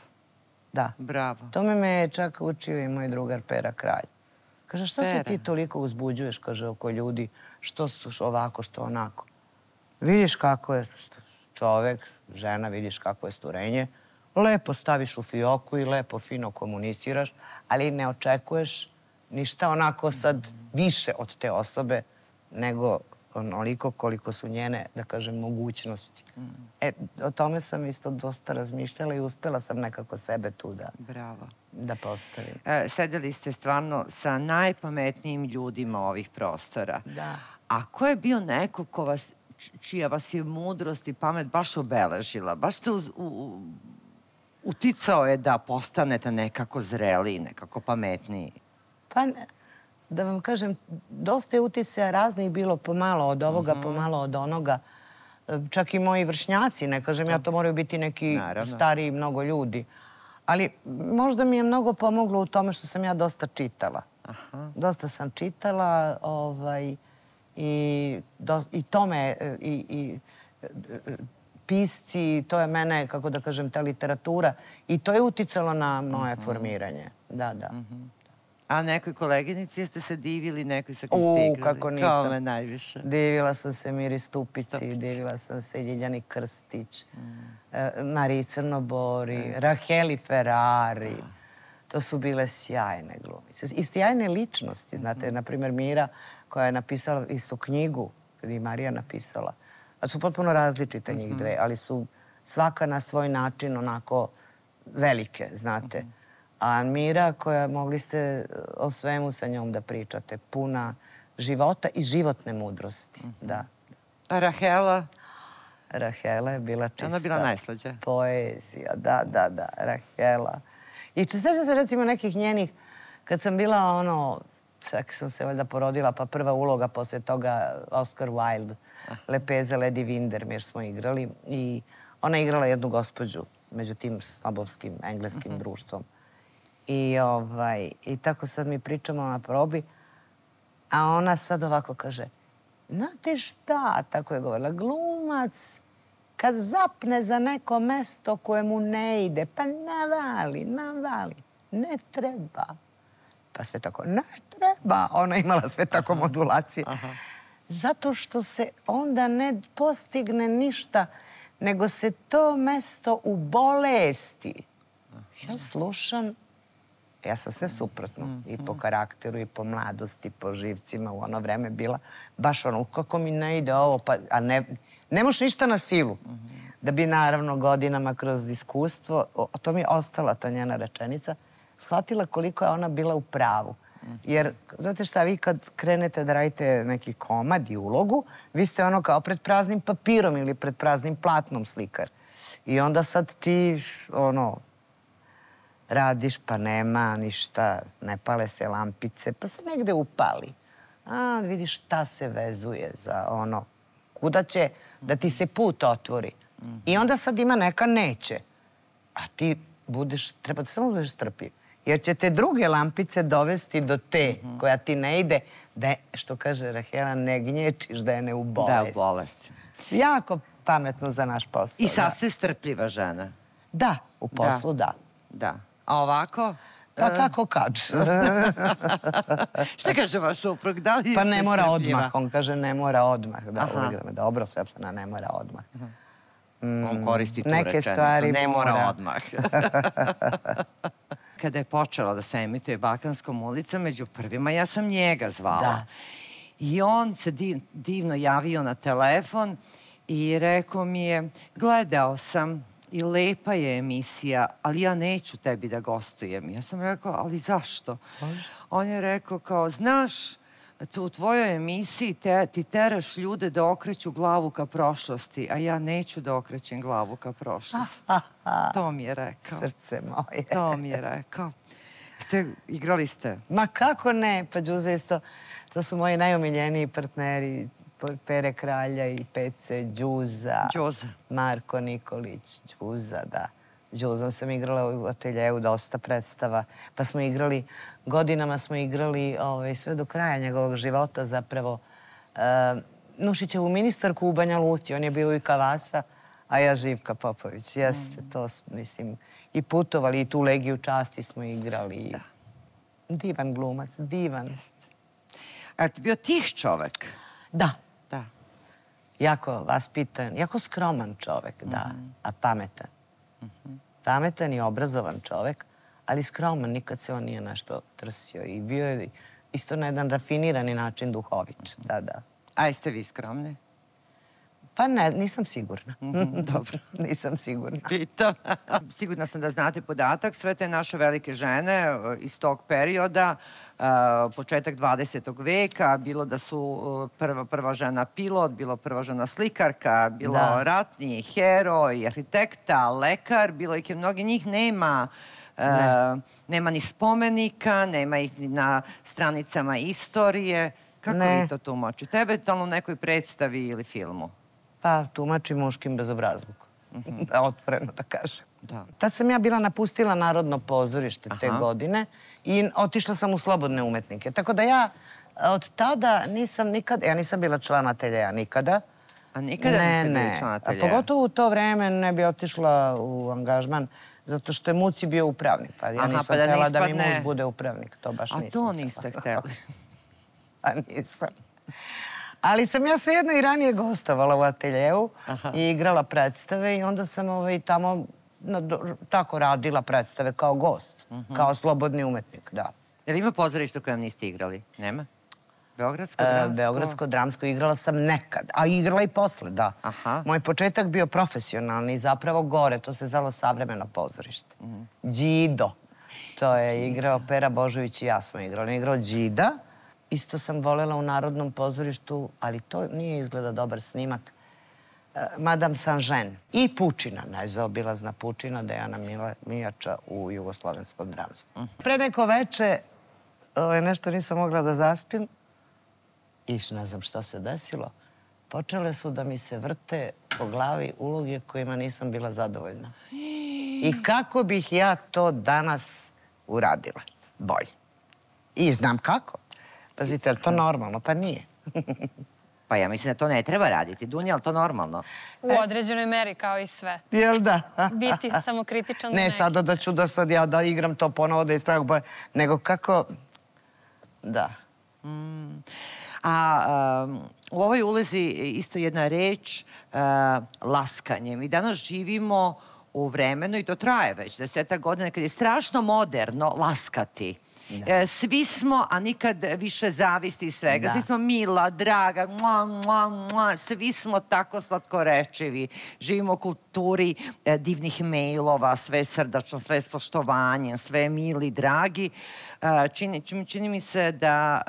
Da. Bravo. Tome me je čak učio i moj drugar Pera Kralj. Kaže, što se ti toliko uzbuđuješ, kaže, oko ljudi, što su ovako, što onako. Vidiš kako je čovek, žena, vidiš kako je stvorenje, lepo staviš u fioku i lepo, fino komuniciraš, ali ne očekuješ ništa onako sad više od te osobe, nego onoliko koliko su njene, da kažem, mogućnosti. O tome sam isto dosta razmišljala i uspela sam nekako sebe tu da postavim. Sedeli ste stvarno sa najpametnijim ljudima ovih prostora. Da. A ko je bio neko čija vas je mudrost i pamet baš obeležila? Baš ste uticao je da postanete nekako zreliji, nekako pametniji? Pa, da vam kažem, dosta je uticaja raznih bilo, pomalo od ovoga, pomalo od onoga. Čak i moji vršnjaci, ne kažem ja, to moraju biti neki stariji mnogo ljudi. Ali možda mi je mnogo pomoglo u tome što sam ja dosta čitala. Dosta sam čitala i tome, i pisci, to je mene, kako da kažem, ta literatura. I to je uticalo na moje formiranje. Da, da. A nekoj koleginici jeste se divili, nekoj sa kim ste igrali? Kako nisam. Kao me najviše. Divila sam se Miri Stupici, divila sam se Ljiljani Krstić, Mariji Crnobori, Raheli Ferrari. To su bile sjajne glumice. I sjajne ličnosti, znate, na primjer Mira koja je napisala isto knjigu, kada je Marija napisala. A su potpuno različite njih dve, ali su svaka na svoj način onako velike, znate. A Mira koja mogli ste o svemu sa njom da pričate, puna života i životne mudrosti, da. A Rahela? Rahela je bila čista. Ona je bila najslađa. Poezija, da, da, da, Rahela. I sećam se recimo nekih njenih, kad sam bila ono, čak sam se valjda porodila, pa prva uloga posle toga Oscar Wilde, Lepeza Lady Windermere smo igrali i ona je igrala jednu gospođu među tim snobovskim engleskim društvom. I tako sad mi pričamo na probi, a ona sad ovako kaže, znate šta, tako je govorila, glumac kad zapne za neko mesto koje mu ne ide, pa navali, ne treba. Pa sve tako, ne treba. Ona je imala sve tako modulacije. Zato što se onda ne postigne ništa, nego se to mesto u bolesti. Ja slušam, ja sam sve suprotno. I po karakteru, i po mladosti, po živcima. U ono vreme bila baš ono, kako mi ne ide ovo, a ne moš ništa na silu. Da bi naravno godinama kroz iskustvo, to mi je ostala ta njena rečenica, shvatila koliko je ona bila u pravu. Jer, znate šta, vi kad krenete da radite neki komad i ulogu, vi ste ono kao pred praznim papirom ili pred praznim platnom slikar. I onda sad ti, ono, radiš pa nema ništa, ne pale se lampice, pa se negde upali. A, vidiš šta se vezuje za ono, kuda će da ti se put otvori. I onda sad ima neka neće. A ti treba da samo budeš strpljiv. Jer će te druge lampice dovesti do te koja ti ne ide, da, što kaže Rahela, ne gnječiš, da je ne u bolesti. Da, u bolesti. Jako pametno za naš posao. I sad ste strpljiva žena. Da, u poslu da. Da. A ovako? Pa kako kad? Šta kaže vaš suprug? Da li ste strpljiva? Pa ne mora odmah. On kaže ne mora odmah. Da, uvijek da me dobro, Svetlana, ne mora odmah. On koristi tu neke rečenicu. Stvari ne mora odmah. Kada je počela da se emituje Balkanskom ulicom, među prvima ja sam njega zvala. Da. I on se divno javio na telefon i rekao mi je, gledao sam i lepa je emisija, ali ja neću tebi da gostujem. Ja sam rekao, ali zašto? On je rekao kao, znaš, u tvojoj emisiji ti teraš ljude da okreću glavu ka prošlosti, a ja neću da okrećem glavu ka prošlosti. To mi je rekao. Srce moje. To mi je rekao. Igrali ste? Ma kako ne, pa Đuza isto. To su moji najomiljeniji partneri. Pere Kralja i Pece, Đuza. Marko Nikolić, Đuza, da. Đuzom sam igrala u ateljevu dosta predstava. Pa smo igrali, godinama smo igrali sve do kraja njegovog života zapravo. Nušićevu ministarku u Banja Luci, on je bio i Kavasa, a ja Živka Popović. Jeste, to mislim, i putovali, i tu Legiju časti smo igrali. Divan glumac, divan. A ti bio tih čovek? Da. Da. Jako vaspitan, jako skroman čovek, da, a pametan. Pametan i obrazovan čovek, ali skroman, nikad se on nije nešto trsio i bio je isto na jedan rafinirani način duhović, da. A jeste vi skromni? Pa ne, nisam sigurna. Dobro. Nisam sigurna. Pitam. Sigurna sam da znate podatak, sve te naše velike žene iz tog perioda, početak 20. veka, bilo da su prva žena pilot, bilo prva žena slikarka, bilo ratni heroj, arhitekta, lekar, bilo ih je mnogi njih nema. Nema ni spomenika, nema ih ni na stranicama istorije. Kako vi to tumačite? Eventualno u nekoj predstavi ili filmu? Pa tumači muškim bezobrazlukom. Otvoreno da kažem. Tad sam ja bila napustila Narodno pozorište te godine i otišla sam u slobodne umetnike. Tako da ja od tada nisam nikada, ja nisam bila član ateljeja nikada. A nikada niste bili član ateljeja? Pogotovo u to vreme ne bi otišla u angažman zato što je Muci bio upravnik. Pa ja nisam htjela da mi muž bude upravnik. To baš nisam. A to niste htjeli? A nisam. Ali sam ja svejedno i ranije gostovala u ateljevu i igrala predstave i onda sam tamo tako radila predstave kao gost, kao slobodni umetnik, da. Je li ima pozorište u kojem niste igrali? Nema? Beogradsko, dramsko? Beogradsko, dramsko igrala sam nekad, a igrala i posle, da. Moj početak bio profesionalni, zapravo gore, to se zvalo Savremeno pozorište. Đido. To je igrao Pera Božović i ja smo igrali. On je igrao Đida. Isto sam volela u Narodnom pozorištu, ali to nije izgleda dobar snimak. Madame Saint-Jean i Pučina, nezaobilazna Pučina, Dejana Mijača u Jugoslovenskom dramskom. Pre neko veče nešto nisam mogla da zaspim i ne znam šta se desilo. Počele su da mi se vrte po glavi uloge kojima nisam bila zadovoljna. I kako bih ja to danas uradila? Bolje. I znam kako. Pazite, je li to normalno? Pa nije. Pa ja mislim da to ne treba raditi. Dunja, je li to normalno? U određenoj meri, kao i sve. Jel da? Biti samokritičan. Ne sada da ću da sad ja da igram to ponovo, da ispravim boje, nego kako... Da. A u ovoj ulozi isto jedna reč, laskanje. Mi danas živimo u vremenu, i to traje već 10 godina, kad je strašno moderno laskati. Svi smo, a nikad više zavisti iz svega. Svi smo mila, draga, svi smo tako slatkorečivi. Živimo u kulturi divnih mailova, sve srdačno, sve s poštovanjem, sve mili, dragi. Čini mi se da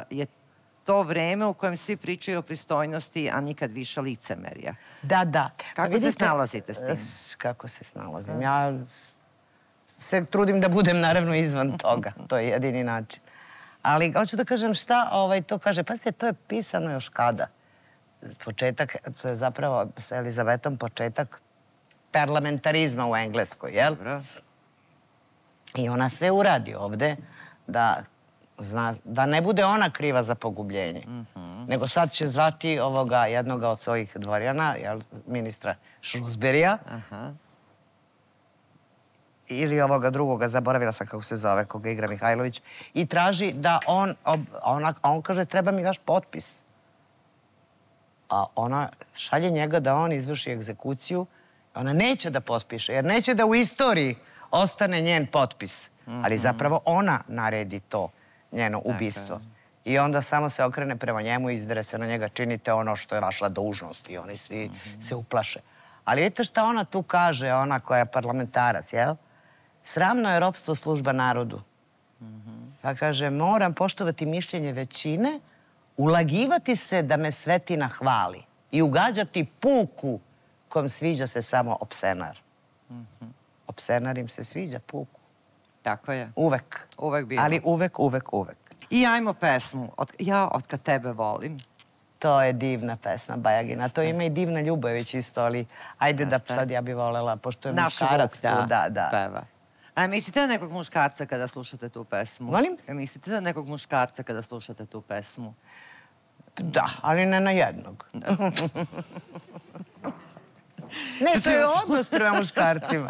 je to vreme u kojem svi pričaju o pristojnosti, a nikad više licemerja. Da. Kako se snalazite s tim? Kako se snalazim? Ja se trudim da budem naravno izvan toga. To je jedini način. Ali hoću da kažem šta to kaže. Pazite, to je pisano još kada. Početak, to je zapravo sa Elizavetom početak parlamentarizma u Engleskoj, jel? I ona sve uradi ovde da ne bude ona kriva za pogubljenje. Nego sad će zvati ovoga jednoga od svojih dvorjana, ministra Shrewsburyja, ili ovoga drugoga, zaboravila sam kako se zove, koga igra Mihajlović, i traži da on kaže treba mi vaš potpis. A ona šalje njega da on izvrši egzekuciju, ona neće da potpiše, jer neće da u istoriji ostane njen potpis. Ali zapravo ona naredi to, njeno ubistvo. I onda samo se okrene prema njemu i izdere se na njega, činite ono što je vaša dužnost. I oni svi se uplaše. Ali vidite šta ona tu kaže, ona koja je parlamentarac, jel? Sramno je ropstvo služba narodu. Pa kaže, moram poštovati mišljenje većine, ulagivati se da me svetina hvali i ugađati puku kom sviđa se samo opsenar. Opsenar im se sviđa puku. Tako je. Uvek. Uvek bilo. Ali uvek. I ajmo pesmu. Ja od kad tebe volim. To je divna pesma Bajagina. To ima i Divna Ljubović isto, ali ajde da sad ja bi volela, pošto je muškarac tu, da. Peva. A mislite na nekog muškarca kada slušate tu pesmu? Molim? Mislite na nekog muškarca kada slušate tu pesmu? Da, ali ne na jednog. Ne, to je odnos prema muškarcima.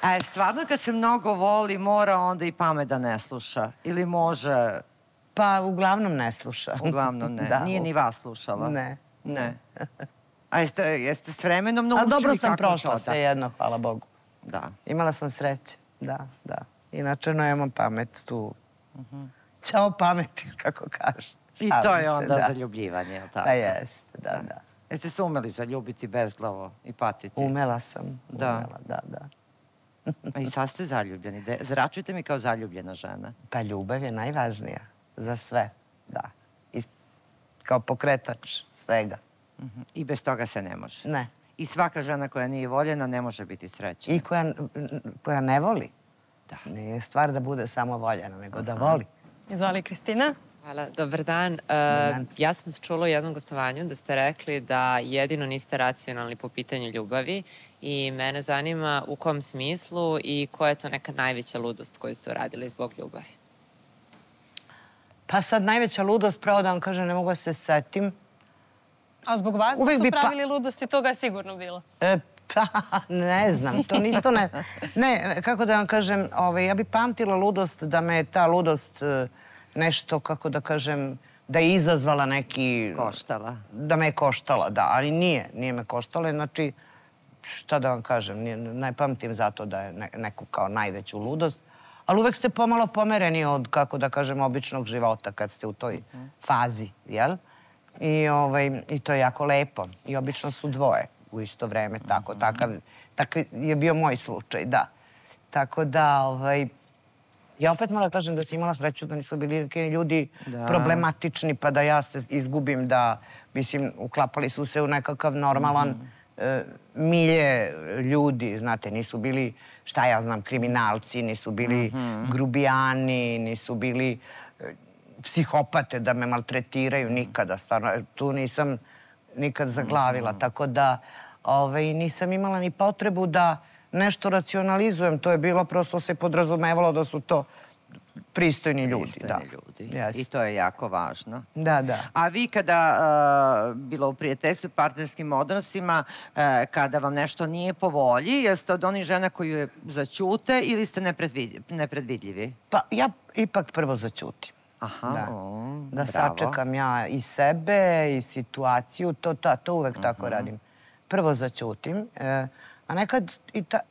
A stvarno kad se mnogo voli, mora onda i pamet da ne sluša? Ili može... Pa, uglavnom ne sluša. Uglavnom ne. Nije ni vas slušala? Ne. Ne. A jeste s vremenom naučili kako to da? A dobro sam prošla sve jedno, hvala Bogu. Da. Imala sam sreće, da. Inače, nemam pamet tu. Ćao pameti, kako kaže. I to je onda zaljubljivanje, je li tako? Pa jeste, da. Jeste se umeli zaljubiti bezglavo i patiti? Umela sam. Da. I sad ste zaljubljeni. Zračujte mi kao zaljubljena žena. Pa ljubav je najvažnija za sve, da. Kao pokretač svega. I bez toga se ne može? Ne. I svaka žena koja nije voljena ne može biti srećna? I koja ne voli. Da. Nije stvar da bude samo voljena, nego da voli. Izvoli, Kristina. Hvala, dobar dan. Ja sam se čula u jednom gostovanju da ste rekli da jedino niste racionalni po pitanju ljubavi i mene zanima u kom smislu i koja je to neka najveća ludost koju ste uradili zbog ljubavi? Pa sad najveća ludost, pravo da vam kažem, ne mogu da se setim. A zbog vas da su pravili ludosti, toga je sigurno bilo. Pa, ne znam, to nisto ne... Ne, kako da vam kažem, ja bi pamtila ludost da me ta ludost nešto, kako da kažem, da je izazvala neki... Koštala. Da me je koštala, da, ali nije me koštala. Znači, šta da vam kažem, ne pamtim zato da je neku kao najveću ludost, ali uvek ste pomalo pomereni od, kako da kažem, običnog života kad ste u toj fazi, jel? I to je jako lepo. I obično su dvoje u isto vreme, tako. Takav je bio moj slučaj, da. Tako da, ja opet moram kažem da sam imala sreću da nisu bili neki ljudi problematični, pa da ja se izgubim, da, mislim, uklapali su se u nekakav normalan milje ljudi, znate, nisu bili, šta ja znam, kriminalci, nisu bili grubijani, nisu bili psihopate da me maltretiraju nikada, stvarno, tu nisam nikad zaglavila, tako da nisam imala ni potrebu da nešto racionalizujem, to je bilo, prosto se podrazumevalo da su to pristojni ljudi. I to je jako važno. Da. A vi kada, bilo u prijateljstvu i partnerskim odnosima, kada vam nešto nije po volji, jeste od onih žena koji je zaćute ili ste nepredvidljivi? Pa ja ipak prvo zaćutim. Da sačekam ja i sebe i situaciju, to uvek tako radim. Prvo zaćutim, a nekad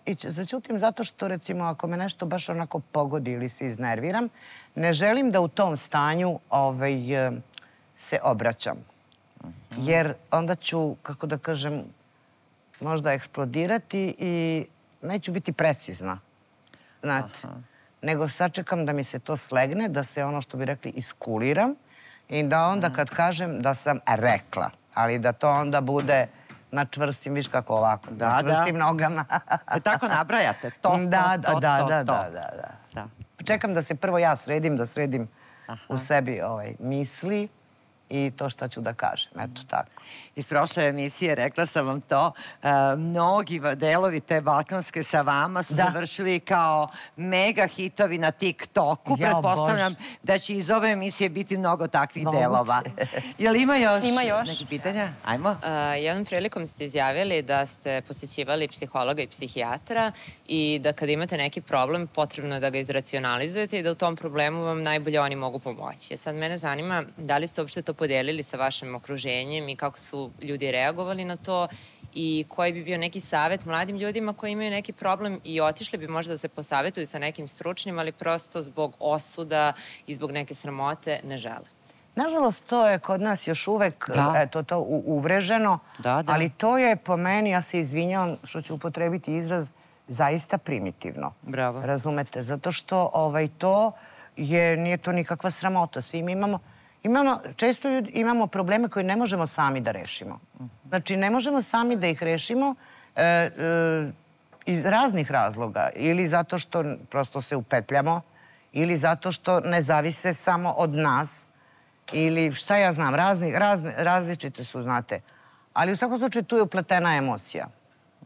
i zaćutim zato što, recimo, ako me nešto baš onako pogodi ili se iznerviram, ne želim da u tom stanju se obraćam. Jer onda ću, kako da kažem, možda eksplodirati i neću biti precizna. Znate, nego sačekam da mi se to slegne, da se, ono što bi rekli, iskuliram i da onda kad kažem da sam rekla, ali da to onda bude na čvrstim, viš kako ovako, na čvrstim nogama. Tako nabrajate? To. Čekam da se prvo ja sredim, da sredim u sebi misli i to šta ću da kažem. Eto tako. Iz prošle emisije, rekla sam vam to, mnogi delovi te balkanske sa vama su završili kao mega hitovi na TikToku. Pretpostavljam da će iz ove emisije biti mnogo takvih delova. Jel ima još neki pitanja? Ajmo. Jednom prilikom ste izjavili da ste posjećivali psihologa i psihijatra i da kada imate neki problem potrebno je da ga izracionalizujete i da u tom problemu vam najbolje oni mogu pomoći. Sad mene zanima da li ste uopšte to podelili sa vašim okruženjem i kako su ljudi reagovali na to i koji bi bio neki savjet mladim ljudima koji imaju neki problem i otišli bi možda da se posavetuju sa nekim stručnim, ali prosto zbog osuda i zbog neke sramote ne žele. Nažalost, to je kod nas još uvek uvreženo, ali to je po meni, ja se izvinjavam što ću upotrebiti izraz, zaista primitivno. Bravo. Razumete? Zato što to nije to nikakva sramota. Svi mi često imamo probleme koje ne možemo sami da rešimo. Znači, ne možemo sami da ih rešimo iz raznih razloga. Ili zato što prosto se upetljamo, ili zato što ne zavise samo od nas, ili šta ja znam, različite su, znate. Ali u svakom slučaju tu je upletena emocija.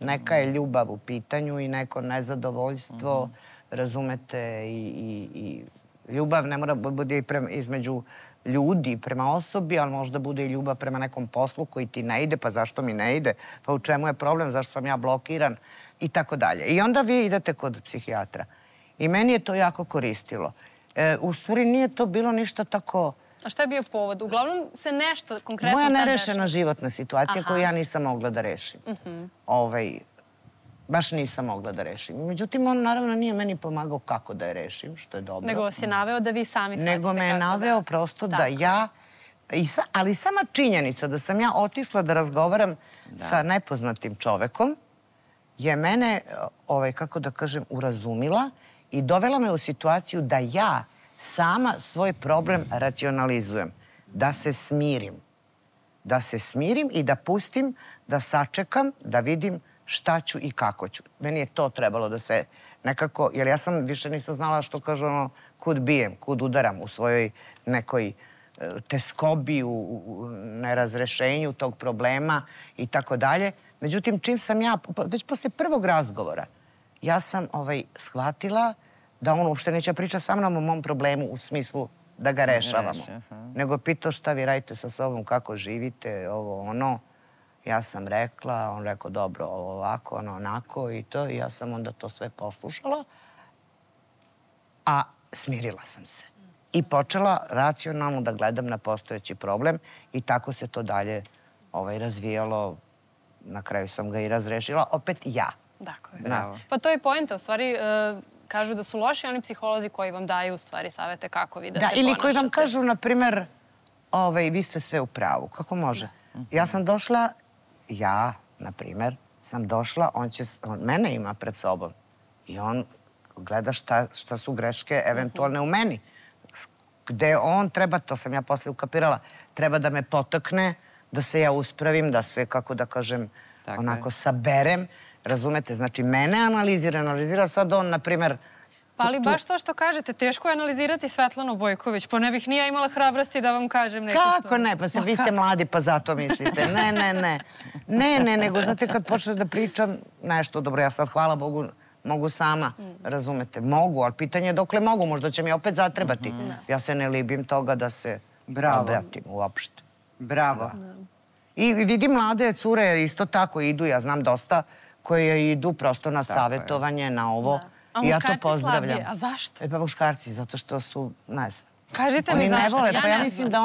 Neka je ljubav u pitanju i neko nezadovoljstvo, razumete, i ljubav ne mora bude između ljudi prema osobi, ali možda bude i ljubav prema nekom poslu koji ti ne ide, pa zašto mi ne ide, pa u čemu je problem, zašto sam ja blokiran i tako dalje. I onda vi idete kod psihijatra. I meni je to jako koristilo. U stvari nije to bilo ništa tako... A šta je bio povod? Uglavnom se nešto konkretno... Moja nerešena životna situacija koju ja nisam mogla da rešim. Baš nisam mogla da rešim. Međutim, on naravno nije meni pomagao kako da je rešim, što je dobro. Nego vas je naveo da vi sami shvatite kako da... Nego me je naveo prosto da ja... Ali sama činjenica da sam ja otišla da razgovaram sa nepoznatim čovekom je mene, kako da kažem, urazumila i dovela me u situaciju da ja sama svoj problem racionalizujem. Da se smirim. Da se smirim i da pustim, da sačekam, da vidim šta ću i kako ću. Meni je to trebalo da se nekako... Jer ja sam više nisam znala što kažu kud bijem, kud udaram u svojoj nekoj teskobi, u nerazrešenju tog problema i tako dalje. Međutim, čim sam ja, već posle prvog razgovora, ja sam shvatila da on uopšte neće pričati sa mnom o mom problemu u smislu da ga rešavamo. Nego pitao šta vi radite sa sobom, kako živite, ovo, ono. Ja sam rekla, on rekao dobro, ovo ovako, ono onako i to. I ja sam onda to sve poslušala. A smirila sam se. I počela racionalno da gledam na postojeći problem i tako se to dalje razvijalo. Na kraju sam ga i razrešila. Opet ja. Dakle, pa to je poenta. U stvari, kažu da su loši oni psiholozi koji vam daju u stvari savete kako vi da se ponašate. Ili koji vam kažu, na primer, vi ste sve u pravu. Kako može? Ja sam došla, na primer, sam došla, on mene ima pred sobom i on gleda šta su greške eventualne u meni. Gde on treba, to sam ja posle ukapirala, treba da me potakne, da se ja uspravim, da se, kako da kažem, onako saberem. Razumete? Znači, mene analizira sad on, na primer... Pa ali baš to što kažete, teško je analizirati Svetlanu Bojković, pa ne bih ni ja imala hrabrosti da vam kažem neke stvari. Kako ne? Pa vi ste mladi, pa zato mislite. Ne, nego znate kad počnem da pričam nešto, dobro, ja sad, hvala Bogu, mogu sama, razumete? Mogu, ali pitanje je dokle mogu, možda će mi opet zatrebati. Ja se ne libim toga da se obratim uopšte. Bravo. I vidim mlade cure isto tako idu, ja znam dosta, koje idu prosto na savjetovanje, na ovo. A muškarci slabije, a zašto? Pa muškarci, zato što su, ne znam. Kažite mi zašto, ja ne znam. Pa ja mislim da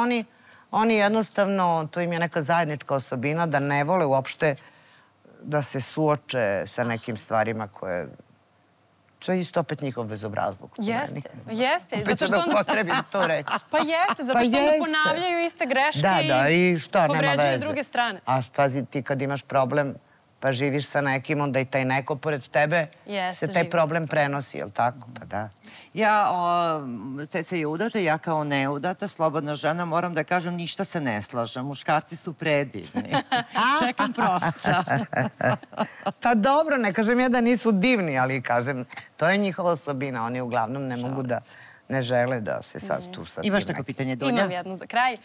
oni jednostavno, to im je neka zajednička osobina, da ne vole uopšte da se suoče sa nekim stvarima koje... To je isto opet njihov bezobrazluk. Jeste. Opet ću da upotrebim to reći. Pa jeste, zato što onda ponavljaju iste greške i povređuju druge strane. A pazi, ti kad imaš problem, pa živiš sa nekim, onda i taj neko pored tebe se taj problem prenosi, jel tako? Pa da. Ja, Ceca je udata, ja kao neudata, slobodna žena, moram da kažem, ništa se ne slažem. Muškarci su predivni. Čekam prosca. Pa dobro, ne kažem ja da nisu divni, ali kažem, to je njihova osobina. Oni uglavnom ne mogu da, ne žele da se sad tu sad... Imaš tako pitanje, Dunja? Imam jedno za kraj.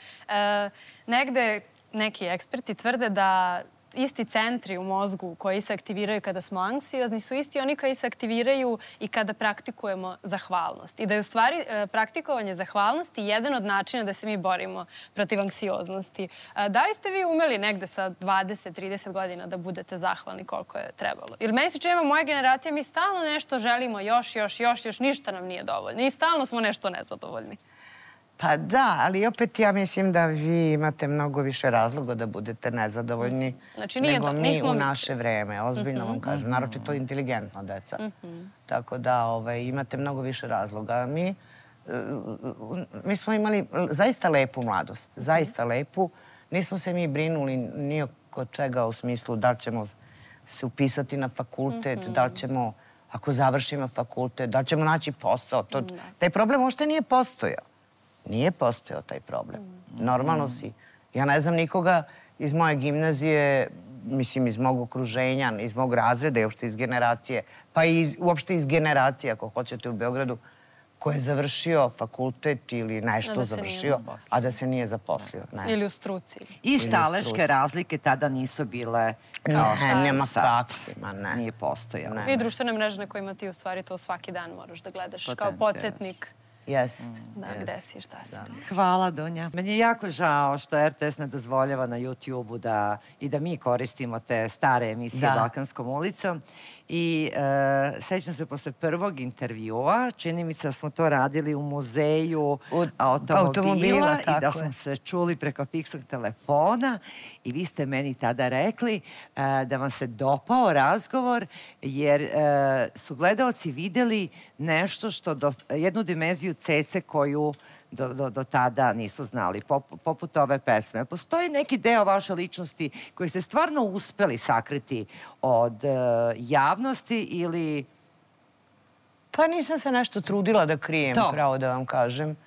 Negde neki eksperti tvrde da isti centri u mozgu koji se aktiviraju kada smo anksiozni su isti oni koji se aktiviraju i kada praktikujemo zahvalnost. I da je u stvari praktikovanje zahvalnosti jedan od načina da se mi borimo protiv anksioznosti. Da li ste vi umeli negde sa 20-30 godina da budete zahvalni koliko je trebalo? Jer meni se čini, moja generacija, mi stalno nešto želimo još, ništa nam nije dovoljno. I stalno smo nešto nezadovoljni. Pa da, ali opet ja mislim da vi imate mnogo više razloga da budete nezadovoljni nego mi u naše vreme. Ozbiljno vam kažem, naročito inteligentna deca. Tako da imate mnogo više razloga. Mi smo imali zaista lepu mladost, zaista lepu. Nismo se mi brinuli ni oko čega u smislu da li ćemo se upisati na fakultet, da li ćemo, ako završimo fakultet, da li ćemo naći posao. Taj problem uopšte nije postojao. Nije postojao taj problem. Normalno si. Ja ne znam nikoga iz moje gimnazije, mislim iz mog okruženja, iz mog razreda i uopšte iz generacije, pa i uopšte iz generacije, ako hoćete, u Beogradu, ko je završio fakultet ili nešto završio, a da se nije zaposlio. Ili u struci. I staleške razlike tada nisu bile kao što nema sad. kakvima, ne. Nije postojalo. I društvene mreže na kojima ti u stvari to svaki dan moraš da gledaš kao podsjetnik. Jest. Da, gde si i šta si. Hvala, Dunja. Meni je jako žao što RTS ne dozvoljava na YouTube-u i da mi koristimo te stare emisije Balkanskom ulicom. I sećam se posle prvog intervjua, čini mi se da smo to radili u muzeju automobila i da smo se čuli preko fiksnog telefona i vi ste meni tada rekli da vam se dopao razgovor jer su gledaoci videli nešto jednu dimenziju Cece koju do tada nisu znali, poput ove pesme. Postoji neki deo vaše ličnosti koji ste stvarno uspeli sakriti od javnosti ili... Pa nisam se nešto trudila da krijem, pravo da vam kažem.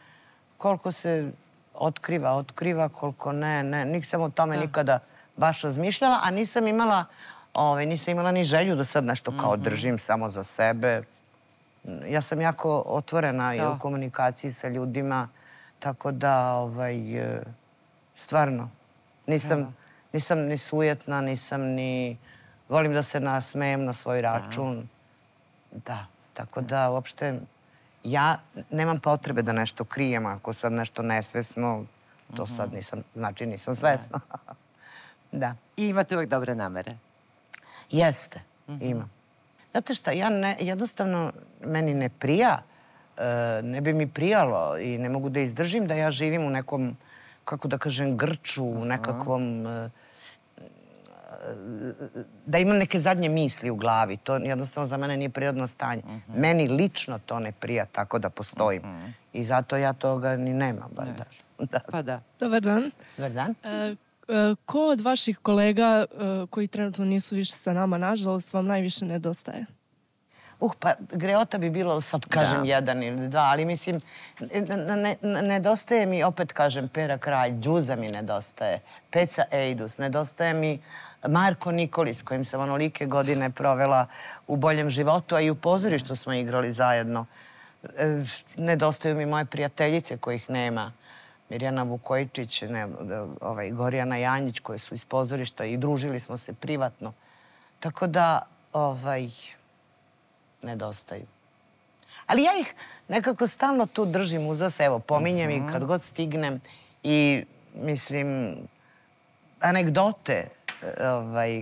Koliko se otkriva, koliko ne. Nisam o tome nikada baš razmišljala, a nisam imala ni želju da sad nešto kao držim samo za sebe. Ja sam jako otvorena i u komunikaciji sa ljudima, tako da, stvarno, nisam ni sujetna, nisam ni... Volim da se nasmejem na svoj račun. Da, tako da, uopšte, ja nemam potrebe da nešto krijem, ako sad nešto nesvesno, to sad znači nisam svesna. Da. I imate uvek dobre namere? Jeste, imam. Znate šta, jednostavno meni ne prija, ne bi mi prijalo i ne mogu da izdržim da ja živim u nekom, kako da kažem, grču, u nekakvom, da imam neke zadnje misli u glavi. To jednostavno za mene nije prirodno stanje. Meni lično to ne prija tako da postojim. I zato ja toga ni nemam, bar da. Pa da. Dobar dan. Dobar dan. Ko od vaših kolega koji trenutno nisu više sa nama, nažalost, vam najviše nedostaje? Pa greota bi bilo, sad kažem, jedan ili dva, ali mislim, nedostaje mi, opet kažem, Pera Kralj, Đuza mi nedostaje, Peca Ejdus, nedostaje mi Marko Nikolić, s kojim sam onolike godine provela u boljem životu, a i u pozorištu smo igrali zajedno. Nedostaju mi moje prijateljice kojih nema. Mirjana Vukojičić, Gorjana Janjić, koje su iz pozorišta i družili smo se privatno. Tako da, nedostaju. Ali ja ih nekako stalno tu držim uzas, evo, pominjem ih kad god stignem i, mislim, anegdote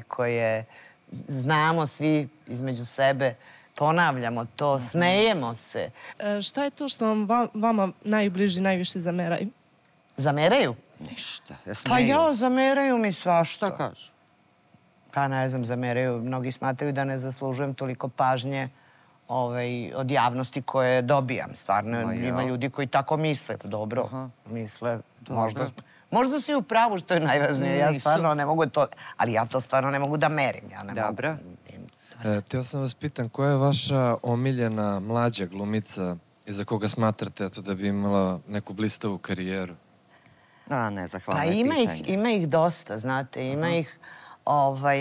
koje znamo svi između sebe, ponavljamo to, smejemo se. Šta je to što vama najbliži najviše zameraju? Zameraju? Ništa. Pa ja, zameraju mi svašta. Šta kažu? Pa ne znam, zameraju. Mnogi smatraju da ne zaslužujem toliko pažnje od javnosti koje dobijam. Stvarno, ima ljudi koji tako misle. Dobro, misle. Možda si u pravu, što je najvažnije. Ja stvarno ne mogu to... Ali ja to stvarno ne mogu da merim. Dobro. Htio sam vas pitan, koja je vaša omiljena mlađa glumica iza koga smatrate da bi imala neku blistavu karijeru? Ne, zahvalno je pitanje. Ima ih dosta, znate. Ima ih,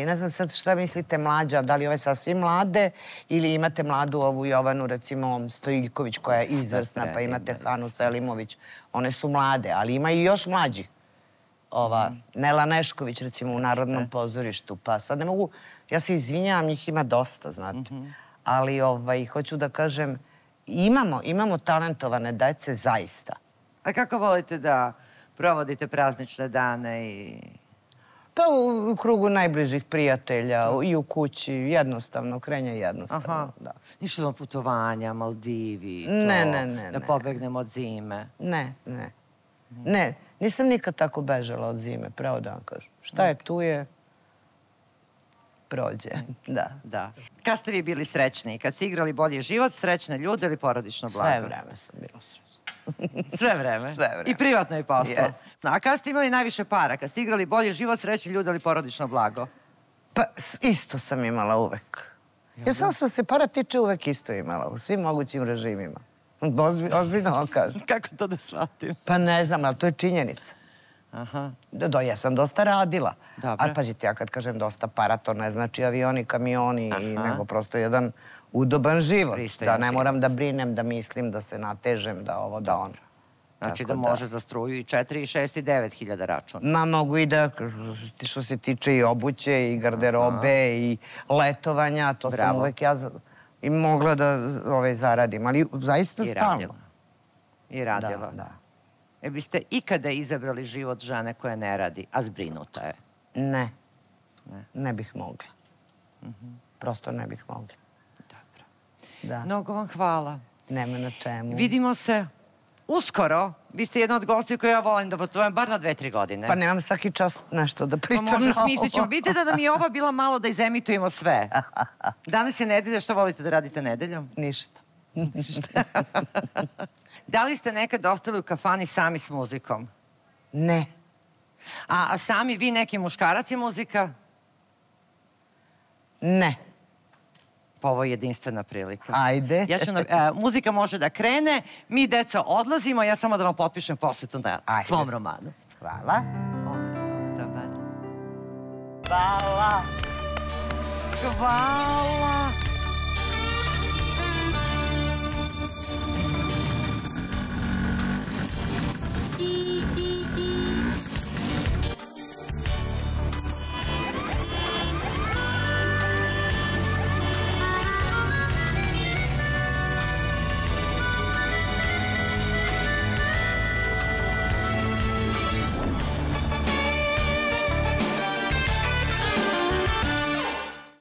ne znam sad šta mislite mlađa, da li ove sasvim mlade ili imate mladu ovu Jovanu, recimo Stojiljković, koja je izvrsna, pa imate Hanu Selimović. One su mlade, ali ima i još mlađih. Nela Nešković, recimo, u Narodnom pozorištu. Pa sad ne mogu... Ja se izvinjavam, njih ima dosta, znate. Ali hoću da kažem, imamo talentovane dece, zaista. A kako volite da provodite praznične dane i... Pa u krugu najbližih prijatelja i u kući, jednostavno, krenje jednostavno. Ništa na putovanja, Maldivi, da pobegnemo od zime. Ne, nisam nikad tako bežala od zime, pravo da vam kažem. Šta je tu je... prođe, da. Kad ste vi bili srećni? Kad ste igrali Bolji život, srećne ljude ili porodično blago? Sve vreme sam bila srećna. Sve vreme? Sve vreme. I privatno i poslo? A kad ste imali najviše para? Kad ste igrali Bolji život, srećni ljude ili porodično blago? Pa isto sam imala uvek. Ja sam što se para tiče uvek isto imala, u svim mogućim režimima. Ozbiljno vam kažem. Kako to da shvatim? Pa ne znam, ali to je činjenica. Ja sam dosta radila. Ali pazite, ja kad kažem dosta para, to ne znači avioni, kamioni, nego prosto jedan udoban život. Pristojan Da ne život. moram da brinem, da mislim, da se natežem, da ovo, da ono. Znači da Tako može za struju i 4, i 6, i 9 hiljada računa. Ma mogu i da, što se tiče i obuće, i garderobe, i letovanja, to sam Bravo. uvek ja i mogla da zaradim, ali zaista I stalno. radila. I radila. Da. Biste ikada izabrali život žene koja ne radi, a zbrinuta je? Ne. Ne bih mogla. Prosto ne bih mogla. Dobro. Da. Mnogo vam hvala. Nema na čemu. Vidimo se uskoro. Vi ste jedna od gostiju koju ja volim da potujem bar na 2-3 godine. Pa nemam svaki čas nešto da pričam. Pa može, smislit ćemo. Vidite da nam je ova bila malo da izemitujemo sve. Danas je nedelja, što volite da radite nedeljom? Ništa. Da li ste nekad ostali u kafani sami s muzikom? Ne. A sami vi neki muškarac je muzika? Ne. Pa ovo je jedinstvena prilika. Ajde. Muzika može da krene, mi deca odlazimo, ja samo da vam potpišem posvetu na svom romanu. Hvala. Dobar. Hvala. Hvala.